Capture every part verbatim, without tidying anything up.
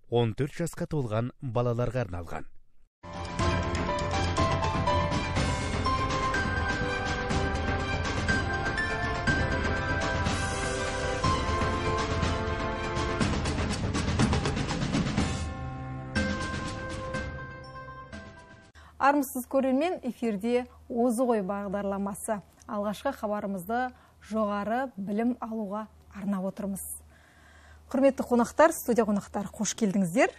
он төрт жасқа толған балаларға арналған. Армысыз көрермен, эфирде Озы ғой бағдарламасы. Алғашқы хабарымызды жоғары білім алуға арнап отырмыз. Құрметті қонақтар, студия қонақтар, қош келдіңіздер.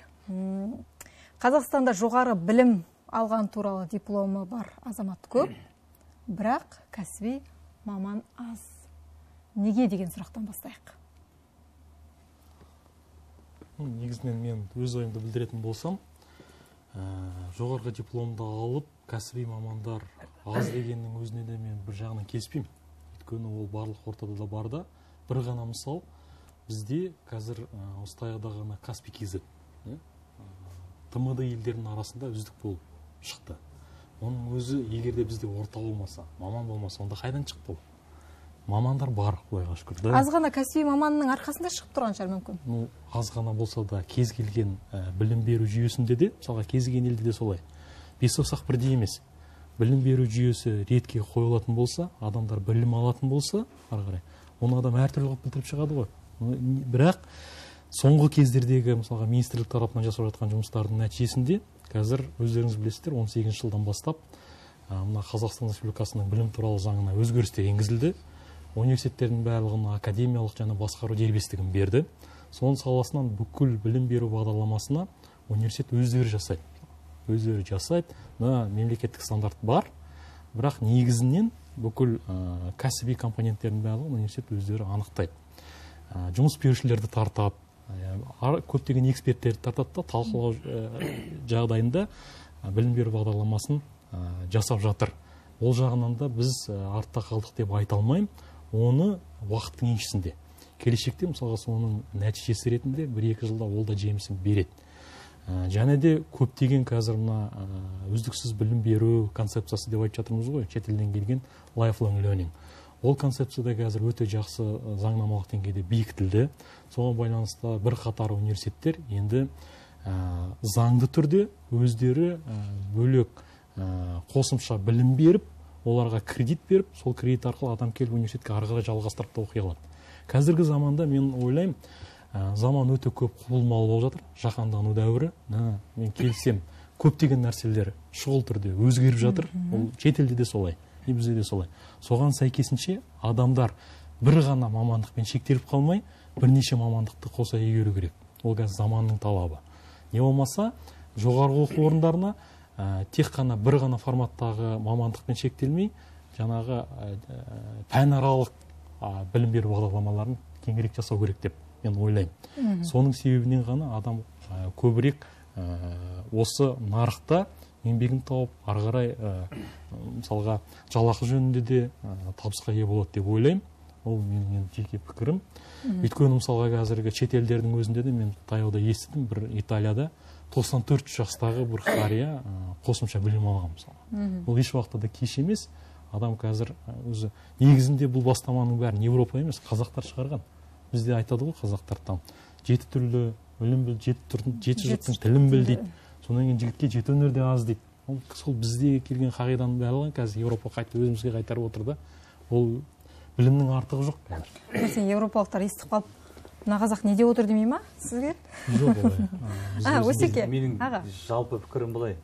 Қазақстанда жоғары білім алған туралы дипломы бар азамат көп, бірақ кәсіби маман аз. Неге деген сұрақтан бастайық? Негізінен мен өз ойымды білдіретін болсам, жоғарғы дипломды алып, кәсіби мамандар аз дегеннің өзіне де мен бір жағынан келіспеймін. Өйткені ол барлық ортада да бар да. Бір ғана мысал, бізде қазір осы таяқта ғана Каспий кз Т М Д елдерінің арасында үздік болып шықты. Оның өзі егерде бізде орта болмаса, маман болмаса, онда қайдан шықты ол? Мамандар бар, құдайға шүкір. Аз ғана кәсіби маманның арқасында шығып тұрған шығар мүмкін. Ну, аз ғана болса да кез келген білім беру жүйесінде де, мысалға кез келген елде де солай. Бес саусақ бірдей емес. Білім беру жүйесі ретке қойылатын болса, адамдар білім алатын болса, ары қарай, оны адам әртүрлі қылып білдіріп шығады ғой. Бірақ соңғы кездердегі, мысалға, министрлік тарапынан жасап жатқан жұмыстардың нәтижесінде, қазір өздеріңіз білесіздер, он сегізінші жылдан бастап, мына Қазақстан Республикасының білім туралы заңына өзгерістер енгізілді. Университеттердің барлығына академиялық және басқару дербестігін берді. Соның саласынан бүкіл білім беру бағдарламасына университет өздері жасайды. Өздері жасайды. Мемлекеттік стандарт бар, бірақ негізінен бүкіл кәсіби компоненттердің барлығын университет өздері анықтайды. Жұмыс берушілерді тартап, көптеген эксперттерді тартады да, талқылау жағдайында білім беру бағдарламасын жасап жатыр. Ол жағынан да біз артта қалдық деп айта алмаймын. Оны уақыттың еншісінде. Келешекте, мысалға, соның нәтижесі ретінде бір-екі жылда ол да жемісін береді. Және де көптеген қазір мына үздіксіз білім беру концепциясы деп айтып жатырмыз ғой, шетелден келген lifelong learning. Ол концепцияда қазір өте жақсы заңнамалық деңгейде бекітілді. Соған байланысты бір қатар университеттер енді заңды түрде өздері бөлек қосымша білім беріп, оларға кредит беріп, сол кредит арқылы адам келіп университетке ары қарай жалғастырып та оқи алады. Қазіргі заманда мен ойлаймын, заман өте көп құбылмалы болып жатыр, жаһандану дәуірі. Мен келсем, көптеген нәрселер шұғыл түрде өзгеріп жатыр. Ол шетелде де солай, бізде де солай. Соған сәйкесінше адамдар бір ғана мамандықпен шектеліп қалмай, бірнеше мамандықты қоса игеру керек. Ол қазір заманның талабы. Не болмаса, жоғарғы оқу орындарына тек қана бір ғана форматтағы мамандықпен шектелмей, жаңағы пәнаралық білім беру бағдарламаларын кеңірек жасау керек деп мен ойлаймын. Соның себебінен ғана адам көбірек осы нарықта еңбегін тауып, ары қарай мысалға жалақы жөнінде де табысқа ие болады деп ойлаймын. Ол менің жеке пікірім. Өйткені мысалға қазіргі шетелдердің өзінде де мен таяуда естідім, бір Италияда тоқсан төрт жастағы бір қария қосымша білім алған мысалы. Бұл еш уақытта да кеш емес. Адам қазір өзі негізінде бұл бастаманың бәрін Европа емес, қазақтар шығарған. Бізде айтады ғой, қазақтар там жеті түрлі білім біл, жеті жұрттың тілін біл дейді. Сонан кейін жігітке жеті өнер де аз дейді. Сол бізде келген қағиданың барлығын қазір Европа қайтып өзімізге қайтарып отыр да. Ол білімнің артығы жоқ қазір. Сен европалықтар естіп қалып, мына қазақ не деп отыр демей ма сізге? Жоқ, олай. Өсеке. Менің жалпы пікірім былай.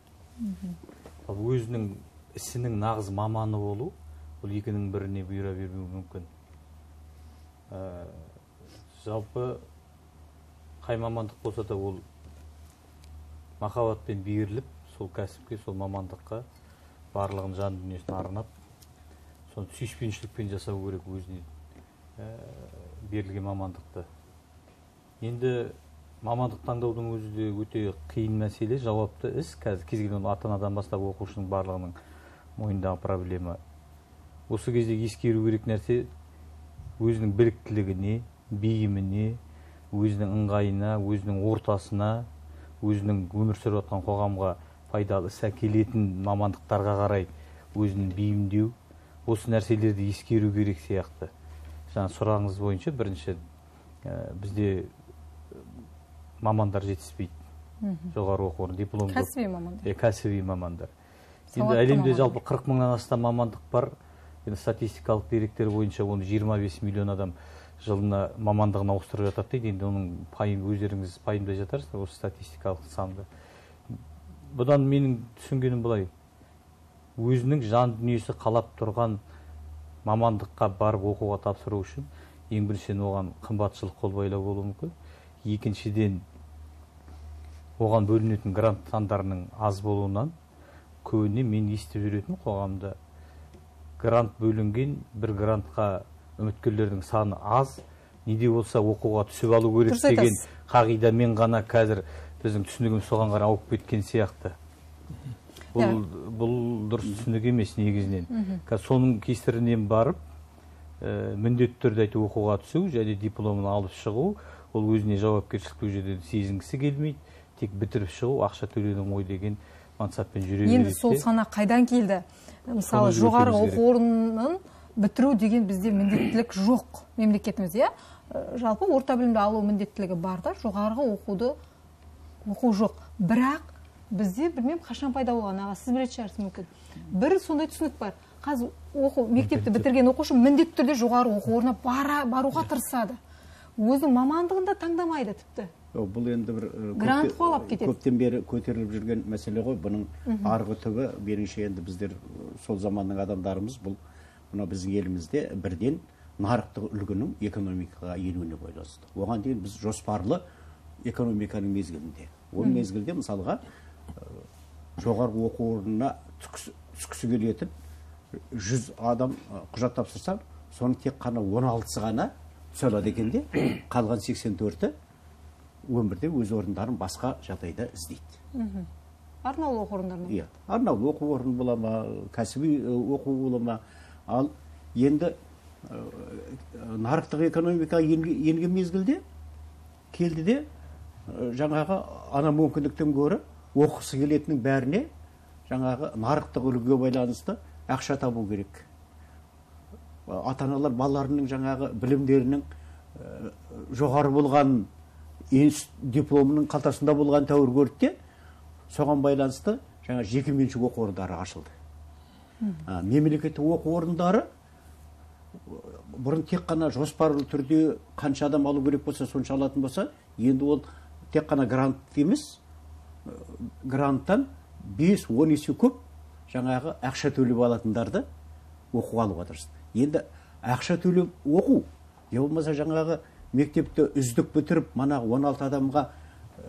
Өзінің ісінің нағыз маманы болу, бұл екінің біріне бұйыра бермеуі мүмкін. Жалпы қай мамандық болса да ол махаббатпен беріліп, сол кәсіпке, сол мамандыққа барлығын жан дүниесін арнап, соны сүйіспеншілікпен жасау керек өзіне берілген мамандықты. Енді мамандық таңдаудың өзі де өте қиын мәселе, жауапты іс. Қазір кез келген ата-анадан бастап оқушының барлығының мойнындағы проблема. Осы кезде ескеру керек нәрсе өзінің біліктілігіне, бейіміне, өзінің ыңғайына, өзінің ортасына, өзінің өмір сүріп жатқан қоғамға пайдалы іс әкелетін мамандықтарға қарай өзін бейімдеу, осы нәрселерді ескеру керек сияқты. Жаңа сұрағыңыз бойынша бірінші бізде мамандар жетіспейді. Жоғары оқу орны диплом жоқ. Кәсіби мамандар. Е, кәсіби мамандар. Енді Сауатты әлемде мамандар. жалпы қырық мыңнан астам мамандық бар. Енді статистикалық деректер бойынша оны жиырма бес миллион адам жылына мамандығын ауыстырып жатады дейді. Енді оның пайым өздеріңіз пайымдай жатарсыздар осы статистикалық санды. Бұдан менің түсінгенім былай. Өзінің жан дүниесі қалап тұрған мамандыққа барып оқуға тапсыру үшін ең біріншіден оған қымбатшылық қол байлау болуы мүмкін. Екіншіден оған бөлінетін грант сандарының аз болуынан көбіне мен естіп жүретін қоғамда грант бөлінген бір грантқа үміткерлердің саны аз, неде болса оқуға түсіп алу керек деген қағидамен ғана қазір біздің түсінігіміз соған қарай ауып кеткен сияқты. Бұл, бұл дұрыс түсінік емес негізінен. Соның кесірінен барып, ә, міндетті түрде айтып оқуға түсу және дипломын алып шығу, ол өзіне жауапкершілікті жерде сезінгісі келмейді, тек бітіріп шығу, ақша төлеудің ой деген мансаппен жүре береді. Енді сол сана қайдан келді? Мысалы, жоғары оқу орнын бітіру деген бізде міндеттілік жоқ мемлекетімізде. Жалпы орта білімді алу міндеттілігі бар да, жоғарғы оқуды оқу жоқ. Бірақ бізде білмем қашан пайда болған, аға, сіз білетін шығарсыз мүмкін. Бір сондай түсінік бар. Қазір оқу мектепті бітірген оқушы міндетті түрде жоғары оқу орнына баруға тырысады. Өзінің мамандығында таңдамайды тіпті. Бұл енді бір грант қуалап кетеді. Көптен бері көтеріліп жүрген мәселе ғой. Бұның арғы түбі меніңше енді біздер сол заманның адамдарымыз бұл мына біздің елімізде бірден нарықтық үлгінің экономикаға енуіне байланысты. Оған дейін біз жоспарлы экономиканың мезгілінде. Ол мезгілде мысалға жоғарғы оқу орнына түскісі келетін жүз адам құжат тапсырсам, соның тек қана он алтысы ғана түсе алады екен де, қалған сексен төрті өмірде өз орындарын басқа жағдайда іздейді. Арнаулы оқу орындарына? Иә, арнаулы оқу орны бола ма, кәсіби оқу бола ма. Ал енді нарықтық экономикаға енген мезгілде келді де жаңағы ана мүмкіндіктен гөрі оқысы келетінің бәріне жаңағы нарықтық үлгіге байланысты ақша табу керек. Ата-аналар балаларының жаңағы білімдерінің жоғары болған дипломының қалтасында болған тәуір көрді де, соған байланысты жаңа жекеменшік оқу орындары ашылды. Мемлекеттік оқу орындары бұрын тек қана жоспарлы түрде қанша адам алу керек болса сонша алатын болса, енді ол тек қана грант емес, гранттан бес он есе көп жаңағы ақша төлеп алатындарды оқуға алуға тырысты. Енді ақша төлеп оқу, не болмаса жаңағы мектепті үздік бітіріп, мана он алты адамға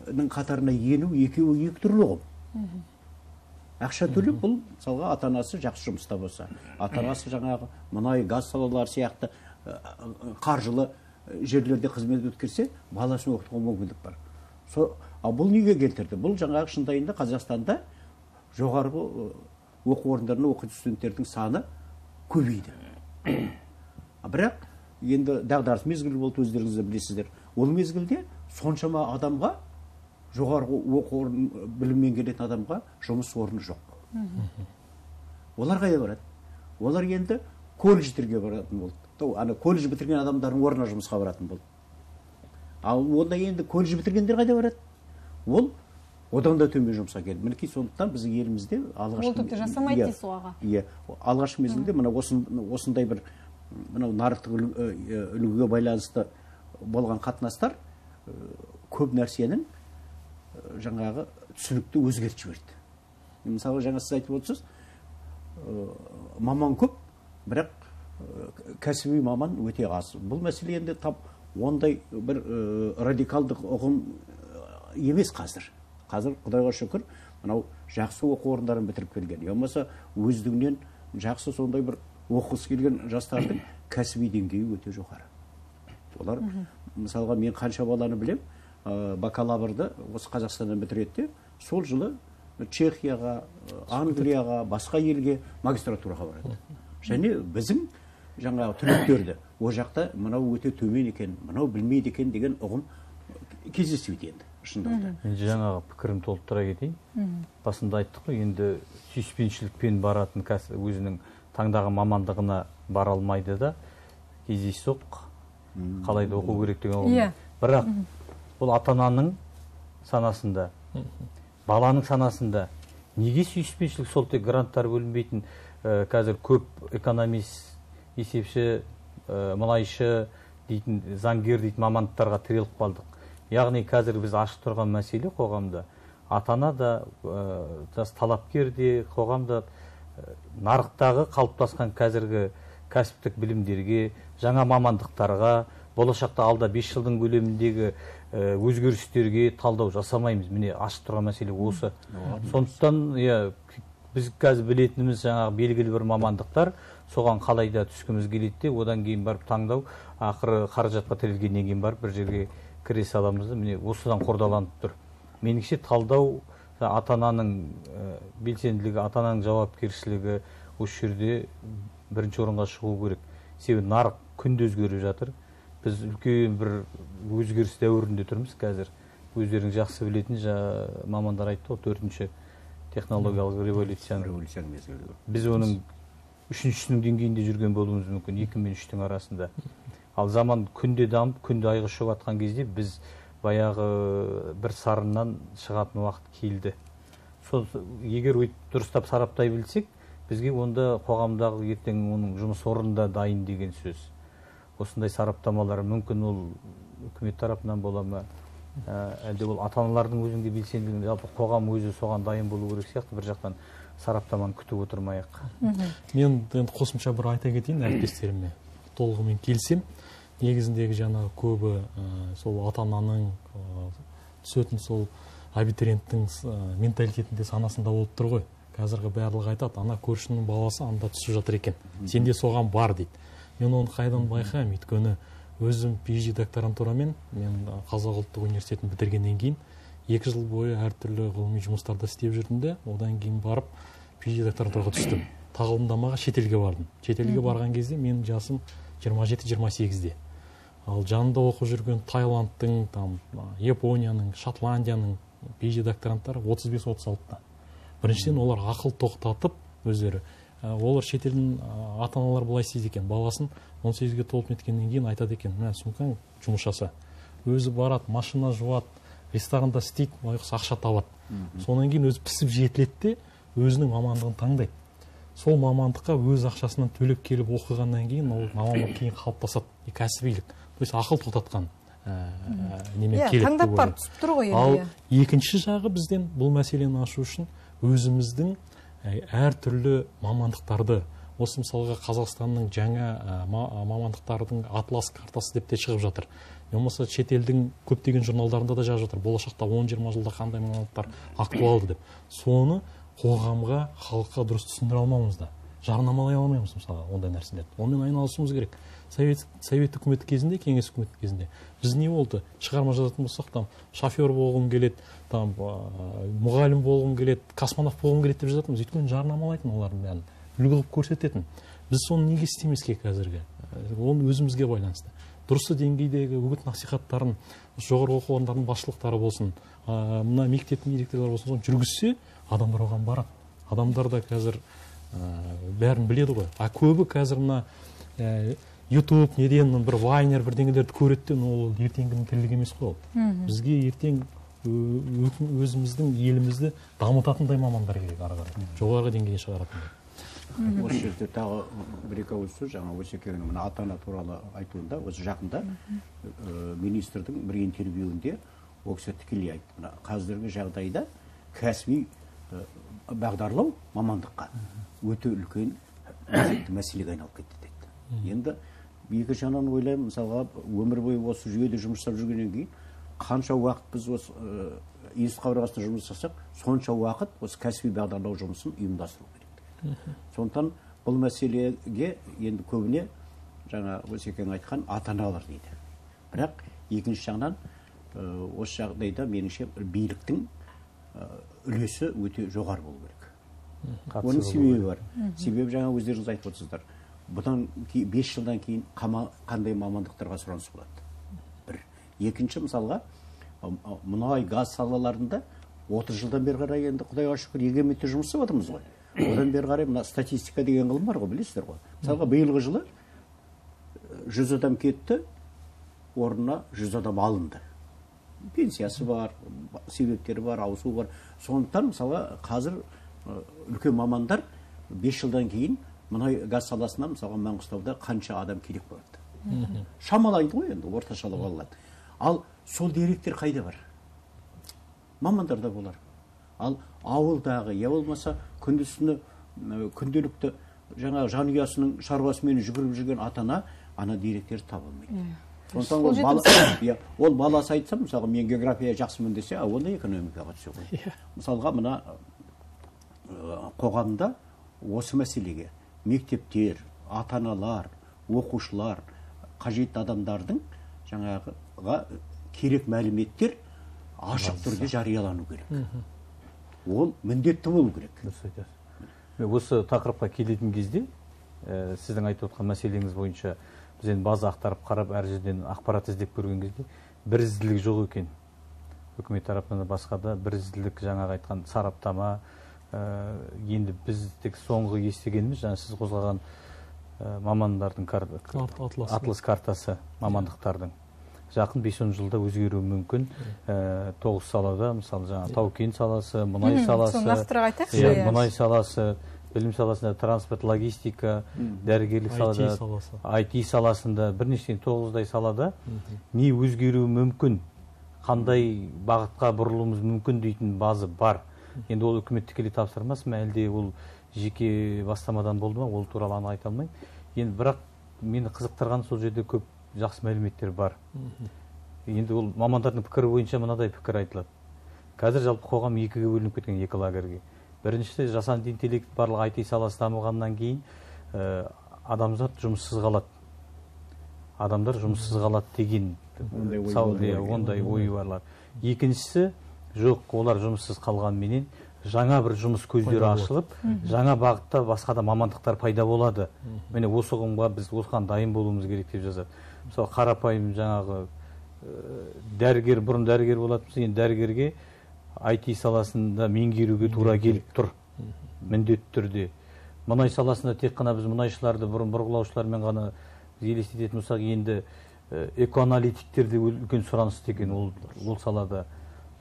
қатарына ену екеуі екі түрлі ғой. Ақша төлеп бұл мысалға ата-анасы жақсы жұмыста болса, ата-анасы жаңағы мұнай, газ салалары сияқты қаржылы жерлерде қызмет өткерсе, баласын оқытуға мүмкіндік бар. А бұл неге келтірді? Бұл жаңағы шындайында Қазақстанда жоғарғы оқу орындарында оқитын студенттердің саны көбейді. Бірақ енді дағдарыс мезгілі болды, өздеріңіз білесіздер. Ол мезгілде соншама адамға, жоғарғы оқу орын біліммен келетін адамға жұмыс орны жоқ. Олар қайда барады? Олар енді колледждерге баратын болды. Ана колледж бітірген адамдардың орнына жұмысқа баратын болды. Ал онда енді колледж бітіргендер қайда барады? Ол одан да төмен жұмысқа келді. Мінекей сондықтан біздің елімізде алғашқы ол тіпті жасамайды дейсіз оға. Иә, алғашқы мезгілде мына осындай бір мынау нарықтық үлгіге байланысты болған қатынастар көп нәрсенің жаңағы түсінікті өзгертіп жіберді. Мысалы жаңа сіз айтып отырсыз, маман көп, бірақ кәсіби маман өте аз. Бұл мәселе енді тап ондай бір радикалдық ұғым емес қазір. Қазір Құдайға шүкір, мынау жақсы оқу орындарын бітіріп келген. Болмаса өздігінен жақсы сондай бір оқысы келген жастардың кәсіби деңгейі өте жоғары. Олар мысалға мен қанша баланы білем, бакалаврды осы Қазақстаннан бітіреді, сол жылы Чехияға, Англияға, басқа елге магистратураға барады. Және біздің жаңағы түлектерді о жақта мынау өте төмен екен, мынау білмейді екен деген ұғым кездеспейді енді. Мен жаңағы пікірім толықтыра кетейін. Басында айттық қой, енді сүйіспеншілікпен баратын өзінің таңдаған мамандығына бара алмайды да, кездейсоқ қалайда оқу керек деген ұғым. Бірақ бұл ата-ананың санасында, баланың санасында неге сүйіспеншілік, сол тек гранттар бөлінбейтін қазір көп экономист, есепші, мұнайшы дейтін, заңгер дейтін мамандықтарға тіреліп қалдық. Яғни қазір біз ашық тұрған мәселе қоғамда, ата-ана да, жас талапкер де, қоғамда нарықтағы қалыптасқан қазіргі кәсіптік білімдерге, жаңа мамандықтарға, болашақта алда бес жылдың көлеміндегі өзгерістерге талдау жасамаймыз. Міне ашық тұрған мәселе осы. Сондықтан біз қазір білетініміз жаңағы белгілі бір мамандықтар, соған қалайда түскіміз келеді, одан кейін барып таңдау, ақыры қаражатқа тірелгеннен кейін барып бір жерге кіре саламыз. Міне осыдан қордаланып тұр. Меніңше талдау ата-ананың белсенділігі, ата-ананың жауапкершілігі осы жерде бірінші орынға шығу керек. Себебі нарық күнде өзгеріп жатыр. Біз үлкен бір өзгеріс дәуірінде тұрмыз қазір. Өздерің жақсы білетін мамандар айтты ғой, төртінші технологиялық революцияның. Біз оның үшіншісінің деңгейінде жүрген болуымыз мүмкін, екі мен үштің арасында. Ал заман күнде дамып, күнде айға шығып атқан кезде біз баяғы бір сарыннан шығатын уақыт келді. Сол егер дұрыстап сараптай білсек, бізге онда қоғамдағы ертең оның жұмыс орнында дайын деген сөз. Осындай сараптамалар мүмкін ол үкімет тарапынан бола ма, әлде ол ата-аналардың өзінде белсенділігі, жалпы қоғам өзі соған дайын болу керек сияқты, бір жақтан сараптаманы күтіп отырмайық. Мен енді қосымша бір айта кетейін әріптестеріме, толығымен келсем. Негізіндегі жаңағы көбі сол ата-ананың түсетін сол абитуриенттің менталитетінде, санасында болып тұр ғой. Қазіргі барлығы айтады, ана көршінің баласы анда түсіп жатыр екен, сенде соған бар дейді. Мен оны қайдан байқаймын, өйткені өзім пи эйч ди докторантурамен, мен Қазақ ұлттық университетін бітіргеннен кейін екі жыл бойы әртүрлі ғылыми жұмыстарда істеп жүрдім де, одан кейін барып пи эйч ди докторантураға түстім. Тағылымдамаға шетелге бардым. Шетелге барған кезде менің жасым жиырма жеті жиырма сегізде. Ал жанында оқып жүрген Таиландтың, там, Японияның, Шотландияның пи эйч ди докторанттары отыз бес отыз алтыда. Біріншіден олар ақыл тоқтатып өздері. Олар шетелдің ата-аналар былай істейді екен, баласын он сегізге толып неткеннен кейін айтады екен, мә сумкаң жұмыс жаса. Өзі барады, машина жуады, ресторанда істейді, ақша табады. Сонан кейін өзі пісіп жетіледі де өзінің мамандығын таңдайды. Сол мамандыққа өз ақшасынан төлеп келіп оқығаннан кейін ол мамандық кейін қалыптасады, кәсібилік. То есть ақыл тоқтатқан немен келеді. Таңдап барып түсіп тұр ғой. Ал екінші жағы бізден бұл мәселені ашу үшін өзіміздің әртүрлі мамандықтарды, осы мысалға Қазақстанның жаңа мамандықтардың атлас картасы деп те шығып жатыр. Болмаса шетелдің көптеген журналдарында да жазып жатыр, болашақта он жиырма жылда қандай мамандықтар актуалды деп. Соны қоғамға, халыққа дұрыс түсіндіре алмауымыз да, жарнамалай алмаймыз мысалы ондай нәрселерді. Онымен айналысуымыз керек. Совет, совет үкіметі кезінде, кеңес үкіметі кезінде біз не болды? Шығарма жазатын болсақ, там шофер болғым келеді, там мұғалім болғым келеді, космонавт болғым келеді деп жазатынбыз. Өйткені жарнамалайтын олардың бәрін, үлгі қылып көрсететін. Біз соны неге істемеске қазіргі? Оны өзімізге байланысты. Дұрысы деңгейдегі үгіт насихаттарын жоғарғы оқу орындарының басшылықтары болсын, мына мектептің директорлары болсын, соны жүргізсе, адамдар оған барады. Адамдар да қазір бәрін біледі ғой. А көбі қазір мына YouTube, неден бір вайнер бірдеңелерді көреді, ол ертеңгінің тірлік емес қой. Бізге ертең өзіміздің елімізді дамытатындай мамандар керек ары қарай. Жоғарғы деңгейге шығаратындай. Осы жерде тағы бір-екі ауыз сөз, жаңа Осекеңнің мына ата-ана туралы айтуында, осы жақында министрдің бір интервьюінде ол кісі тікелей айтты. Мына қазіргі жағдайда кәсіби бағдарлау мамандыққа өте үлкен мәселеге айналып кетті дейді. Енді екі жағынан ойлаймын, мысалға өмір бойы осы жүйеде жұмыс жасап жүргеннен кейін қанша уақыт біз осы институт қабырғасында жұмыс жасасақ, сонша уақыт осы кәсіби бағдарлау жұмысын ұйымдастыру керек. Сондықтан бұл мәселеге енді көбіне жаңа Осекең айтқан ата-аналар дейді. Бірақ екінші жағынан осы жағдайда меніңше биліктің үлесі өте жоғары болу керек. Оның себебі бар. Себебі жаңа өздеріңіз айтып отырсыздар. Бұдан бес жылдан кейін қандай мамандықтарға сұраныс болады? Бір. Екінші мысалға, мұнай, газ салаларында отыз жылдан бері қарай енді Құдайға шүкір егеменді жұмыс істеп отырмыз ғой. Одан бері қарай мына статистика деген ғылым бар ғой, білесіздер ғой. Мысалға биылғы жылы жүз адам кетті, орнына жүз адам алынды. пенсиясы бар, себептері бар, ауысу бар. Сондықтан мысалы қазір үлкен мамандар бес жылдан кейін мұнай газ саласына мысалы Маңғыстауда қанша адам керек болады. Шамалайды ғой енді, орташалап алады. Ал сол деректер қайда бар? Мамандарда болар. Ал ауылдағы, я болмаса күндізсіні күнделікті жаңа жанұясының шаруасымен жүгіріп жүрген атана ана деректерді таба алмайды. Сондықтан ол бала, ол баласы айтса, мысалы мен география жақсымын десе, а онда экономикаға түсе ғой. Мысалға мына қоғамда осы мәселеге мектептер, ата-аналар, оқушылар, қажетті адамдардың жаңағыға керек мәліметтер ашық түрде жариялану керек. Ол міндетті болу керек. Осы тақырыпқа келетін кезде сіздің айтып отқан мәселеңіз бойынша біз енді база ақтарып қарап әр жерден ақпарат іздеп көрген кезде бірізділік жоқ екен. Үкімет тарапынан да басқа да бірізділік, жаңағы айтқан сараптама, енді біз тек соңғы естігеніміз жаңа сіз қозғаған мамандардың атлас картасы мамандықтардың жақын бес он жылда өзгеруі мүмкін. Тоғыз салада, мысалы жаңа тау-кен саласы, мұнай саласы, мұнай саласы, білім саласында транспорт, логистика, дәрігерлік салада, ай ти саласында, бірнеше тоғыздай салада не өзгеруі мүмкін, қандай бағытқа бұрылуымыз мүмкін дейтін базы бар. Енді ол үкімет тікелей тапсырмас ма, әлде ол жеке бастамадан болды ма, ол туралы анық айта алмаймын. Енді бірақ мені қызықтырған сол жерде көп жақсы мәліметтер бар. Енді ол мамандардың пікірі бойынша мынадай пікір айтылады. Қазір жалпы қоғам екіге бөлініп кеткен, екі лагерьге. Біріншісі, жасанды интеллект барлық ай ти саласы дамығаннан кейін адамдар жұмыссыз қалады. Адамдар жұмыссыз қалады деген ондай ой барлар. Екіншісі, жоқ, олар жұмыссыз қалғанменен жаңа бір жұмыс көздері ашылып, жаңа бағытта басқа да мамандықтар пайда болады. Міне осы ұғымға біз осыған дайын болуымыз керек деп жазады. Мысалы қарапайым жаңағы дәрігер, бұрын дәрігер болатынбыз, енді дәрігерге ай ти саласында меңгеруге тура келіп тұр, міндетті түрде. Мұнай саласында тек қана біз мұнайшыларды бұрын бұрғылаушылармен ғана елестететін болсақ, енді экоаналитиктерде үлкен сұраныс екен ол салада.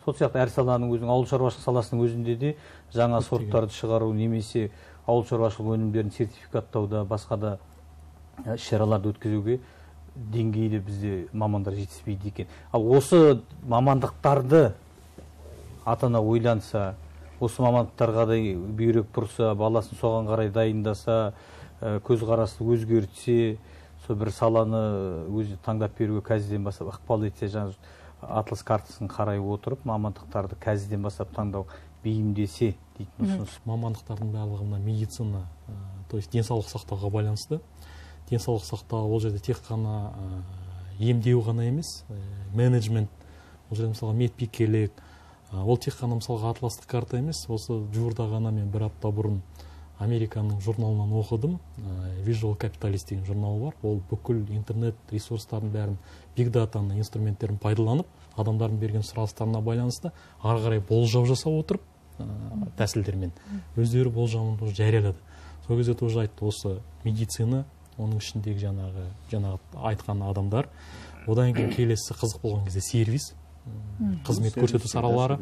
Сол сияқты әр саланың өзінің, ауыл шаруашылық саласының өзінде де жаңа сорттарды шығару немесе ауыл шаруашылық өнімдерін сертификаттауда, басқа да іс-шараларды өткізуге деңгейде бізде мамандар жетіспейді екен. Ал осы мамандықтарды ата-ана ойланса, осы мамандықтарға да бүйрек бұрса, баласын соған қарай дайындаса, көзқарасты өзгертсе, сол бір саланы өзі таңдап беруге қазірден бастап ықпал етсе, жаңа атлас картасын қарай отырып, мамандықтарды қазірден бастап таңдау бейімдесе дейтін ұсыныс. Мамандықтардың барлығына медицина, то есть денсаулық сақтауға байланысты. Денсаулық сақтау ол жерде тек қана емдеу ғана емес, менеджмент, ол жерде мысалға медбикелік, ол тек қана мысалға атластық карта емес. Осы жуырда ғана мен бір апта бұрын Американың журналынан оқыдым, Visual Capitalist деген журнал бар. Ол бүкіл интернет ресурстарын бәрін, биг датаның инструменттерін пайдаланып, адамдардың берген сұраныстарына байланысты ары қарай болжау жасап отырып, тәсілдермен өздері болжамын жариялады. Сол кезде тоже айтты, осы медицина, оның ішіндегі жаңағы жаңағы айтқан адамдар, одан кейін келесі қызық болған кезде сервис, қызмет көрсету салалары,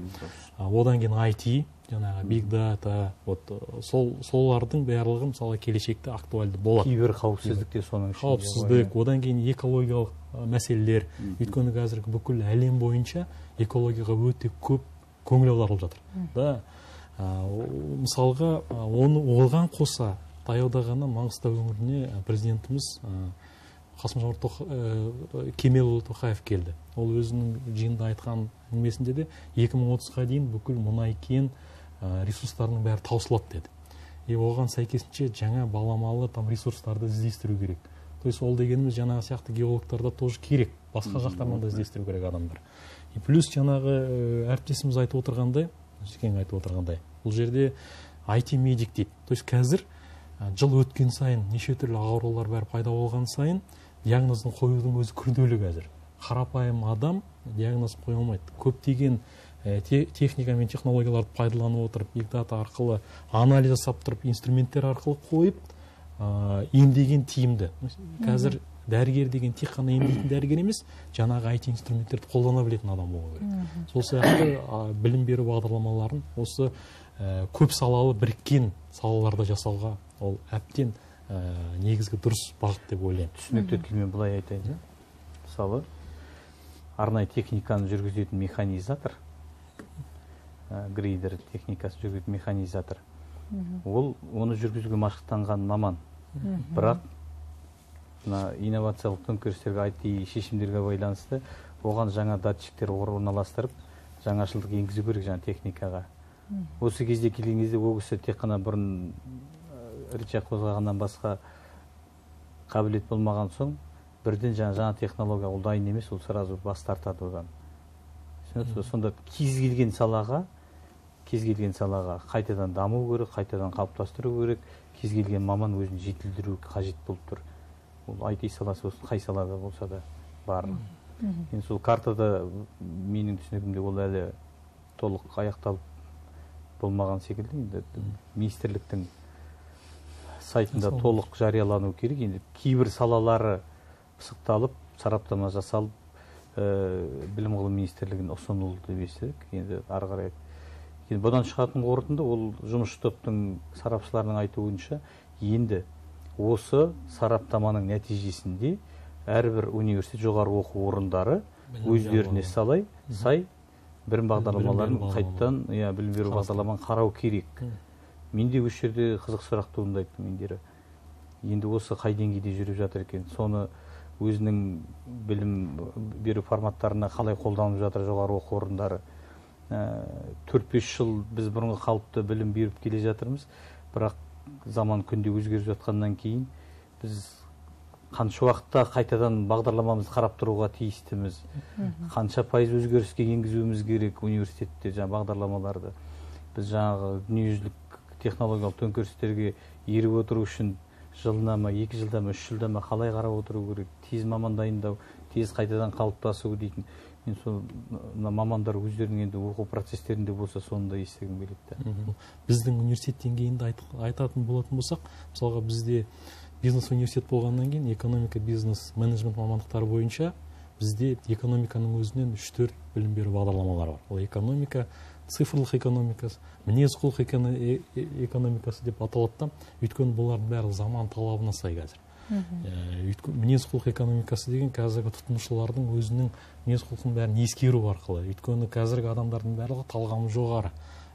одан кейін ай ти, жаңағы биг дата, солардың барлығы мысалы келешекте актуальды болады. Кибер қауіпсіздік те соның ішінде. Қауіпсіздік, одан кейін экологиялық мәселелер. Өйткені қазір бүкіл әлем бойынша экологияға өте көп көңіл аударылып жатыр. Да, мысалға оған қоса таяуда ғана Маңғыстау өңіріне президентіміз Қасым-Жомарт Кемелұлы Тоқаев келді. Ол өзінің жиында айтқан әңгімесінде де екі мың отызға дейін бүкіл мұнай кен ресурстарының бәрі таусылады деді. И оған сәйкесінше жаңа баламалы там ресурстарды іздестіру керек. То есть ол дегеніміз жаңағы сияқты геологтарда тоже керек. Басқа жақтардан да іздестіру керек адамдар. И плюс жаңағы әріптесіміз айтып отырғандай, Жекең айтып отырғандай, бұл жерде ай ти медик дейді. То есть қазір жыл өткен сайын неше түрлі аурулар бәрі пайда болған сайын диагнозын қоюдың өзі күрделі қазір. Қарапайым адам диагноз қоя алмайды. Көптеген техника мен технологияларды пайдаланып отырып, биг дата арқылы анализ жасап тұрып, инструменттер арқылы қойып, емдеген тиімді. Қазір дәрігер деген тек қана емдейтін дәрігер емес, жаңағы ай ти инструменттерді қолдана білетін адам болу керек. Сол сияқты білім беру бағдарламаларын осы көп салалы біріккен салаларда жасауға ол әбден негізгі дұрыс бағыт деп ойлаймын. Түсінікті тілмен былай айтайын. Мысалы, арнайы техниканы жүргізетін механизатор, грейдер техникасы жүргізетін механизатор, ол оны жүргізуге машықтанған маман. Бірақ инновациялық төңкерістерге, ай ти шешімдерге байланысты оған жаңа датчиктер орналастырып, жаңашылдық енгізу керек жаңа техникаға. Осы кезде келген кезде ол кісі тек қана бұрын рычаг қозғағаннан басқа қабілет болмаған соң, бірден жаңа жаңа технология ол дайын емес, ол сразу бас тартады одан. Сонда кез келген салаға, кез келген салаға қайтадан даму керек, қайтадан қалыптастыру керек, кез келген маман өзін жетілдіру қажет болып тұр. Ол ай ти саласы болсын, қай салада болса да бар. Енді сол картада менің түсінігімде ол әлі толық аяқталып болмаған секілді. Енді министрліктің сайтында толық жариялану керек. Енді кейбір салалары пысықталып, сараптама жасалып, білім ғылым министрлігіне ұсынылды деп естідік. Енді ары қарай. Енді бұдан шығатын қорытынды ол жұмыс топтың сарапшыларының айтуынша енді осы сараптаманың нәтижесінде әрбір университет, жоғары оқу орындары өздеріне салай, сай білім бағдарламаларын қайттан, білім беру бағдарламаны қарау керек. Менде осы жерде қызық сұрақ туындайды мендері. Енді осы қай деңгейде жүріп жатыр екен? Соны өзінің білім беру форматтарына қалай қолданып жатыр жоғары оқу орындары? төрт-бес жыл біз бұрынғы қалыпты білім беріп келе жатырмыз, бірақ заман күнде өзгеріп жатқаннан кейін біз қанша уақытта қайтадан бағдарламамызды қарап тұруға тиістіміз, қанша пайыз өзгеріске енгізуіміз керек университетте жаңа бағдарламаларды. Біз жаңағы дүниежүзілік технологиялық төңкерістерге еріп отыру үшін жылына ма, екі жылда ма, үш жылда ма қалай қарап отыру керек, тез маман дайындау, тез қайтадан қалыптасу дейтін. Мен сол мамандар өздерінің енді оқу процестерінде болса, соны да естігім келеді. Біздің университет деңгейінде айтатын болатын болсақ, мысалға бізде бизнес университет болғаннан кейін экономика, бизнес, менеджмент мамандықтары бойынша бізде экономиканың өзінен үш-төрт білім беру бағдарламалары бар. Ол экономика, цифрлық экономикасы, мінез құлық экономикасы деп аталады. Өйткені бұлардың бәрі заман талабына сай қазір. Мінез құлық экономикасы деген қазіргі тұтынушылардың өзінің мінез құлқын бәрін ескеру арқылы. Өйткені қазіргі адамдардың барлығы талғамы жоғары.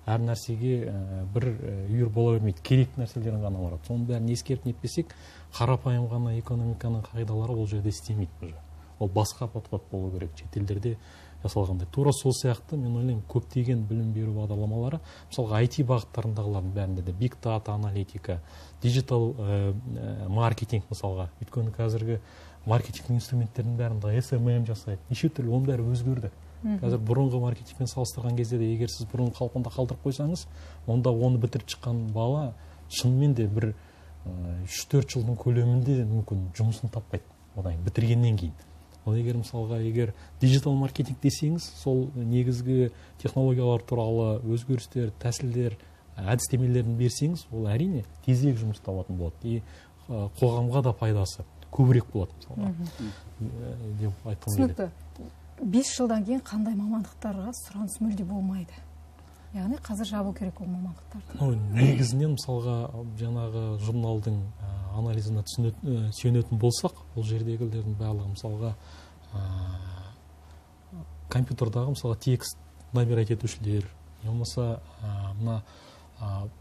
Әр нәрсеге бір үйір бола бермейді, керекті нәрселерін ғана барады. Соның бәрін ескеріп нетпесек, қарапайым ғана экономиканың қағидалары ол жерде істемейді. Ол басқа подход болу керек, шетелдерде жасалғандай. Тура сол сияқты мен ойлаймын, көптеген білім беру бағдарламалары, мысалға ай ти бағыттарындағылардың бәрінде де биг дата аналитика, диджитал маркетинг мысалға. Өйткені қазіргі маркетинг инструменттерінің бәрінде эс эм эм жасайды. Неше түрлі, оның бәрі өзгерді. Қазір бұрынғы маркетингпен салыстырған кезде де, егер сіз бұрынғы қалпында қалдырып қойсаңыз, онда оны бітіріп шыққан бала шынымен де бір үш-төрт жылдың көлемінде мүмкін жұмысын таппайды, одан бітіргеннен кейін. Ол егер мысалға, егер диджитал маркетинг десеңіз, сол негізгі технологиялар туралы өзгерістер, тәсілдер, әдістемелерін берсеңіз, ол әрине тезірек жұмыс табатын болады. И қоғамға да пайдасы көбірек болады мысалға. Деп айтқым келеді. бес жылдан кейін қандай мамандықтарға сұраныс мүлде болмайды? Яғни қазір жабу керек ол мамандықтарды. Негізінен мысалға жаңағы журналдың анализына сүйенетін болсақ, ол жердегілердің барлығы мысалға компьютердағы мысалға текст набирать етушілер, болмаса мына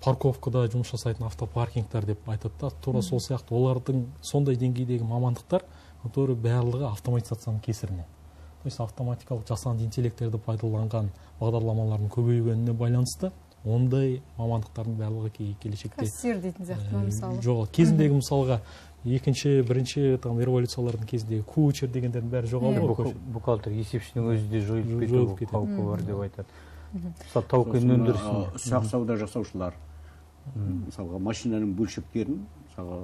парковкада жұмыс жасайтын автопаркингтер деп айтады. Тура сол сияқты олардың сондай деңгейдегі мамандықтар, которые барлығы автоматизацияның кесірінен. То есть автоматикалық жасанды интеллекттерді пайдаланған бағдарламалардың көбейгеніне байланысты ондай мамандықтардың барлығы келешекте кассир дейтін сияқты мысалы. Жоқ, кезіндегі мысалға екінші, бірінші там революциялардың кезіндегі коучер дегендердің бәрі жоғалды. Бухгалтер, есепшінің өзі де жойылып кету қаупі бар деп айтады. Мысалы тау-кен өндірісін, ұсақ сауда жасаушылар, мысалға машинаның бөлшектерін, мысалға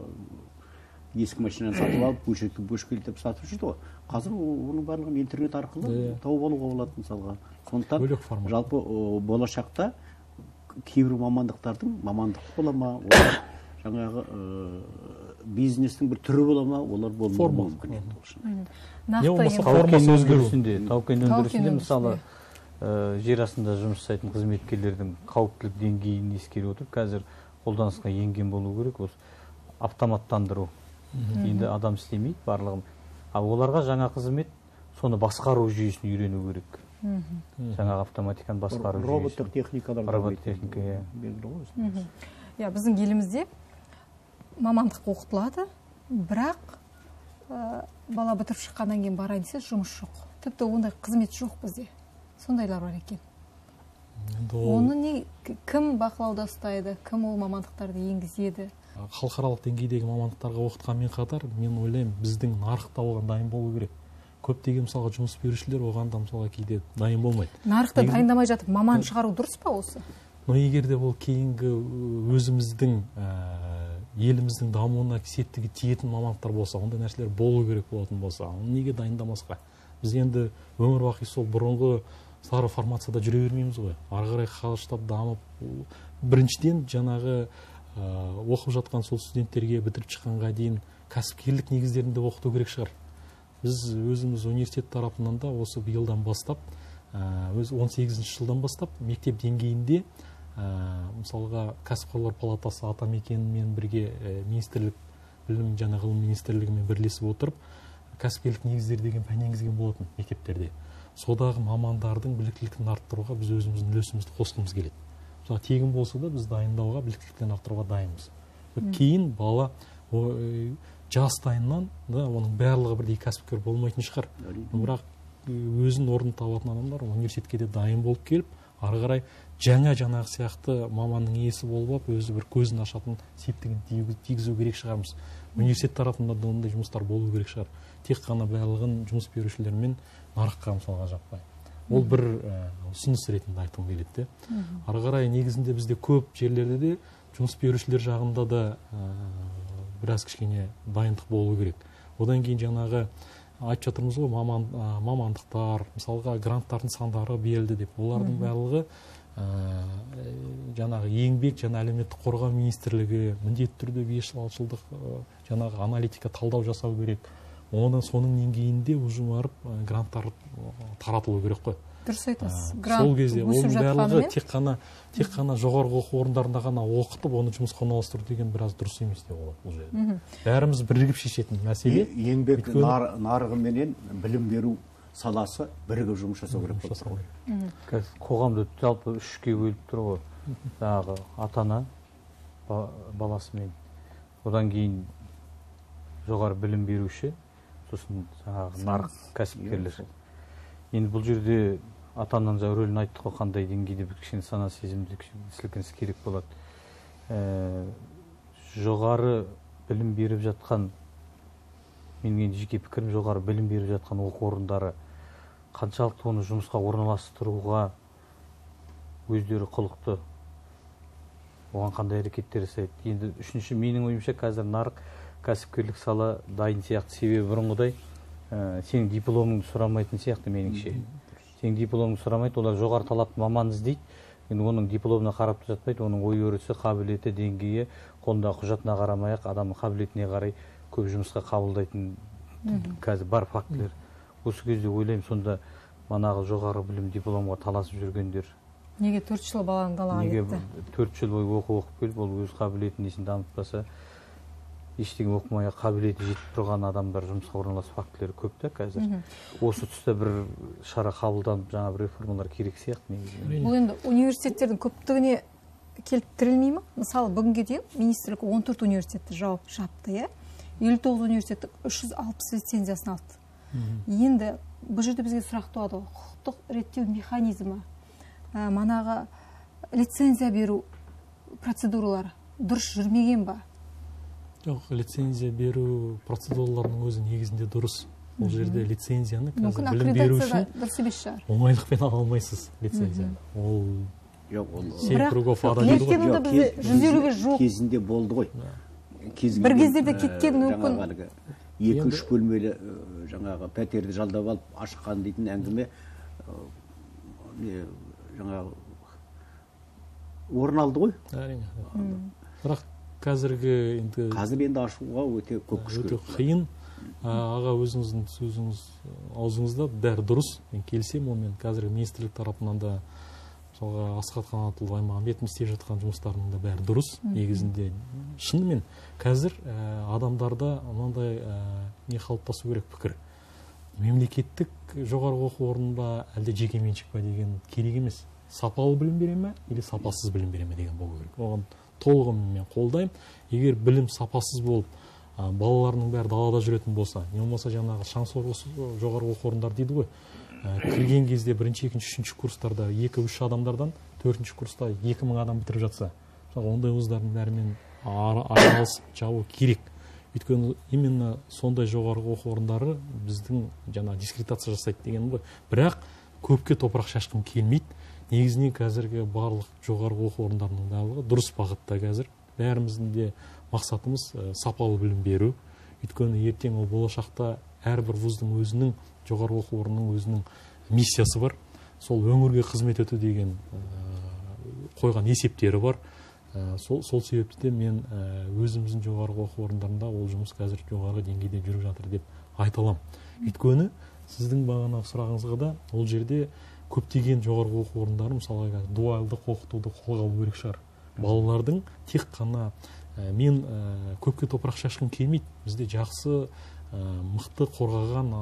ескі машинаны сатып алып, бөлшекті бөлшектеп сатып жүрді ғой. Қазір оның барлығын интернет арқылы тауып алуға болады мысалға. Сондықтан жалпы болашақта кейбір мамандықтардың мамандық бола ма, жаңағы бизнестің бір түрі бола ма, олар болмауы Форма. мүмкін енді ол шын. Не нақты болмаса енді- формасы Тау-кен өзгеру. өндірісінде, тау-кен Тау-кен өндірісінде өндірісінде. мысалы ә, жер астында жұмыс жасайтын қызметкерлердің қауіптілік деңгейін ескере отырып қазір қолданысқа енген болу керек осы автоматтандыру. Енді адам істемейді барлығын. Ал оларға жаңа қызмет соны басқару жүйесін үйрену керек. Жаңағы автоматиканы басқару жүйесі. Роботтар, техникалар. Робот техника, иә. белгілі ғой өзі. иә біздің елімізде мамандық оқытылады, бірақ ә, бала бітіріп шыққаннан кейін барайын десе жұмыс жоқ. Тіпті ондай қызмет жоқ бізде. Сондайлар бар екен. Енді ол Оны не кім бақылауда ұстайды, кім ол мамандықтарды енгізеді? халықаралық деңгейдегі мамандықтарға оқытқанмен қатар мен ойлаймын біздің нарықта оған дайын болу керек. Көптеген мысалға жұмыс берушілер оған да мысалға кейде дайын болмайды. Нарықта Негізі- дайындамай жатып маман шығару дұрыс па осы? Но егер де ол кейінгі өзіміздің ә, еліміздің дамуына септігі тиетін мамандықтар болса, ондай нәрселер болу керек болатын болса, оны неге дайындамасқа? Біз енді өмір бақи сол бұрынғы сары формацияда жүре бермейміз ғой. Ары қарай қалыштап дамып, біріншіден жаңағы ә, оқып жатқан сол студенттерге бітіріп шыққанға дейін кәсіпкерлік негіздерінде оқыту керек шығар. Біз өзіміз университет тарапынан да осы биылдан бастап, ә, өз он сегізінші жылдан бастап мектеп деңгейінде ә, мысалға кәсіпқойлар палатасы атамекенмен бірге ә, министрлік білім және ғылым министрлігімен бірлесіп отырып кәсіпкерлік негіздері деген пән енгізген болатын мектептерде. Содағы мамандардың біліктілігін арттыруға біз өзіміздің үлесімізді қосқымыз келеді. Мысалы тегін болса да біз дайындауға, біліктіліктерін арттыруға дайынбыз. Кейін бала о, жастайынан да оның барлығы бірдей кәсіпкер болмайтын шығар. Бірақ өзін орнын табатын адамдар университетке де дайын болып келіп, ары қарай жаңа жаңағы сияқты маманның иесі болып, өзі бір көзін ашатын септігін тигізу керек шығармыз. Университет тарапында да ондай жұмыстар болу керек шығар. Тек қана барлығын жұмыс берушілермен нарыққа мысалға жаппай. Ол бір ұсыныс ретінде айтқым келеді. Ары қарай негізінде бізде көп жерлерде де жұмыс берушілер жағында да біраз кішкене дайындық болу керек. Одан кейін жаңағы айтып жатырмыз ғой, маман, мамандықтар, мысалға гранттардың сандары берілді деп. Олардың барлығы жаңағы еңбек және әлеуметтік қорғау министрлігі міндетті түрде бес жыл алты жылдық жаңағы аналитика талдау жасау керек. Оны соның деңгейінде уже барып гранттар таратылу керек қой. Дұрыс айтасыз. Сол кезде оның барлығы тек қана тек қана жоғарғы оқу орындарында ғана оқытып, оны жұмысқа орналастыру деген біраз дұрыс емес деп болады бұл жерде. Бәріміз бірігіп шешетін мәселе. Еңбек нарығы менен білім беру саласы бірігіп жұмыс жасау керек болып тұр. Қоғамды жалпы үшке бөліп тұр ғой. Жаңағы ата-ана баласымен, одан кейін жоғары білім беруші, сосын жаңағы нарық кәсіпкерлер. Енді бұл жерде ата-ананың жаңа рөлін айттық қой, қандай деңгейде бір кішкене сана сезімді сілкініс керек болады. Жоғары білім беріп жатқан, менің жеке пікірім, жоғары білім беріп жатқан оқу орындары қаншалықты оны жұмысқа орналастыруға өздері құлықты, оған қандай әрекеттер жасайды. Енді үшінші, менің ойымша қазір нарық кәсіпкерлік сала дайын сияқты. Себебі бұрынғыдай сенің дипломыңды сұрамайтын сияқты меніңше. Сенің дипломыңды сұрамайды, олар жоғары талапты маман іздейді. Енді оның дипломына қарап жатпайды, оның ой өрісі, қабілеті, деңгейі, қолындағы құжатына қарамай-ақ адамның қабілетіне қарай көп жұмысқа қабылдайтын қазір бар фактілер. Осы кезде ойлаймын, сонда манағы жоғары білім дипломға таласып жүргендер неге төрт жыл баланы далаға кетті? Неге төрт жыл бойы оқу оқып келіп, ол өз қабілетін несін дамытпаса, ештеңе оқымай қабілеті жетіп тұрған адамдар жұмысқа орналасу фактілері көп та қазір. Осы тұста бір шара қабылданып, жаңа бір реформалар керек сияқты негізі. Бұл енді университеттердің көптігіне келіп тірелмей ме? Мысалы, бүгінге дейін министрлік он төрт университетті жауып жапты, елу тоғыз университеттің үш жүз алпыс лицензиясын алды. Енді бұл жерде бізге сұрақ туады, құқықтық реттеу механизмі, манағы лицензия беру процедуралары дұрыс жүрмеген ба? Жоқ, лицензия беру процедураларының өзі негізінде дұрыс. Бұл жерде лицензияны қазір білім беру үшін дұрыс емес шығар. Оңайлықпен ала алмайсыз лицензияны. Ол жоқ, ол лектенуді бізде жүз елуге жуық кезінде болды ғой. Бір кездерде кеткен мүмкін. Екі-үш бөлмелі жаңағы пәтерді жалдап алып ашқан дейтін әңгіме жаңағы орын алды ғой. Әрине. Бірақ қазіргі енді қазір енді ашуға өте көп күш өте керек. қиын. Аға, өзіңіздің сөзіңіз аузыңызда бәрі дұрыс, мен келісемін онымен. Қазіргі министрлік тарапынан да мысалға Асхат Қанатұлы Аймағамбетов істеп жатқан жұмыстарының да бәрі дұрыс. Негізінде шынымен қазір адамдарда мынандай не қалыптасу керек пікір. Мемлекеттік жоғарғы оқу орны ба, әлде жеке меншік па деген керек емес. Сапалы білім бере ме, или сапасыз білім бере ме деген болу керек. Оған толығымен мен қолдаймын. Егер білім сапасыз болып, балаларының бәрі далада жүретін болса, не болмаса жаңағы шаңсор жоғарғы оқу орындар дейді ғой. Кірген кезде бірінші, екінші, үшінші курстарда екі үш адамдардан төртінші курста екі мың адам бітіріп жатса, ондай вуздардың бәрімен араласып жабу керек. Өйткені именно сондай жоғарғы оқу орындары біздің жаңа дискредитация жасайды деген ғой. Бірақ көпке топырақ шашқым келмейді. Негізінен қазіргі барлық жоғарғы оқу орындарының барлығы дұрыс бағытта қазір. Бәріміздің де мақсатымыз сапалы білім беру. Өйткені ертең ол болашақта әрбір вуздың өзінің, жоғарғы оқу орнының өзінің миссиясы бар. Сол өңірге қызмет ету деген қойған есептері бар. Сол, сол себепті де мен өзіміздің жоғарғы оқу орындарында ол жұмыс қазір жоғарғы деңгейде жүріп жатыр деп айта аламын. Өйткені сіздің бағана сұрағыңызға да ол жерде көптеген жоғарғы оқу орындары мысалы дуалдық оқытуды қолға алу керек шығар. Балалардың тек қана мен көпке топырақ шашқым келмейді. Бізде жақсы мықты қорғаған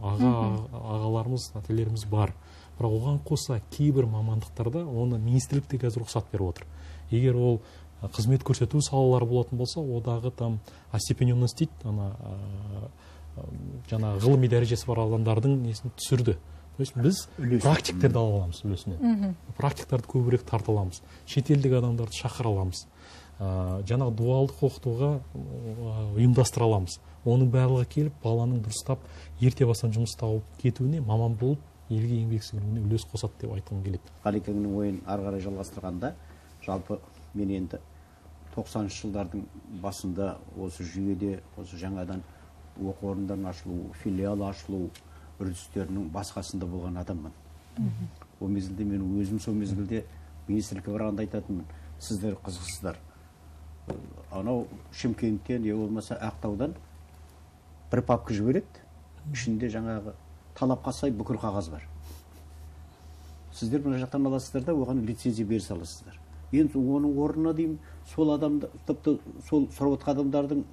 аға ағаларымыз, ата-аналарымыз бар. Бірақ оған қоса кейбір мамандықтарда оны министрлікте қазір рұқсат беріп отыр. Егер ол қызмет көрсету салалары болатын болса, одағы там остепененность дейді, ана жаңа ғылыми дәрежесі бар адамдардың несін түсірді. То есть біз практиктерді ала аламыз үлесінен. Практиктарды көбірек тарта аламыз. Шетелдік адамдарды шақыра аламыз. Жаңағы дуалдық оқытуға ұйымдастыра аламыз. Оның барлығы келіп, баланың дұрыстап ерте бастан жұмыс тауып кетуіне, маман болып, елге еңбек сіңіруіне үлес қосады деп айтқым келеді. Қалекеңнің ойын ары қарай жалғастырғанда, жалпы мен енді тоқсаныншы жылдардың басында осы жүйеде, осы жаңадан оқу орындарын ашылу, филиал ашылу үрдістерінің басқасында болған адаммын. Ол мезгілде мен өзім сол мезгілде министрлікке барғанда айтатынмын, сіздер қызықсыздар. Анау Шымкенттен, не болмаса Ақтаудан бір папка жібереді, ішінде жаңағы талапқа сай бүкіл қағаз бар. Сіздер мына жақтан аласыздар да, оған лицензия бере саласыздар. Енді оның орнына деймін, сол адамды, тіпті сол сұрап отқан адамдардың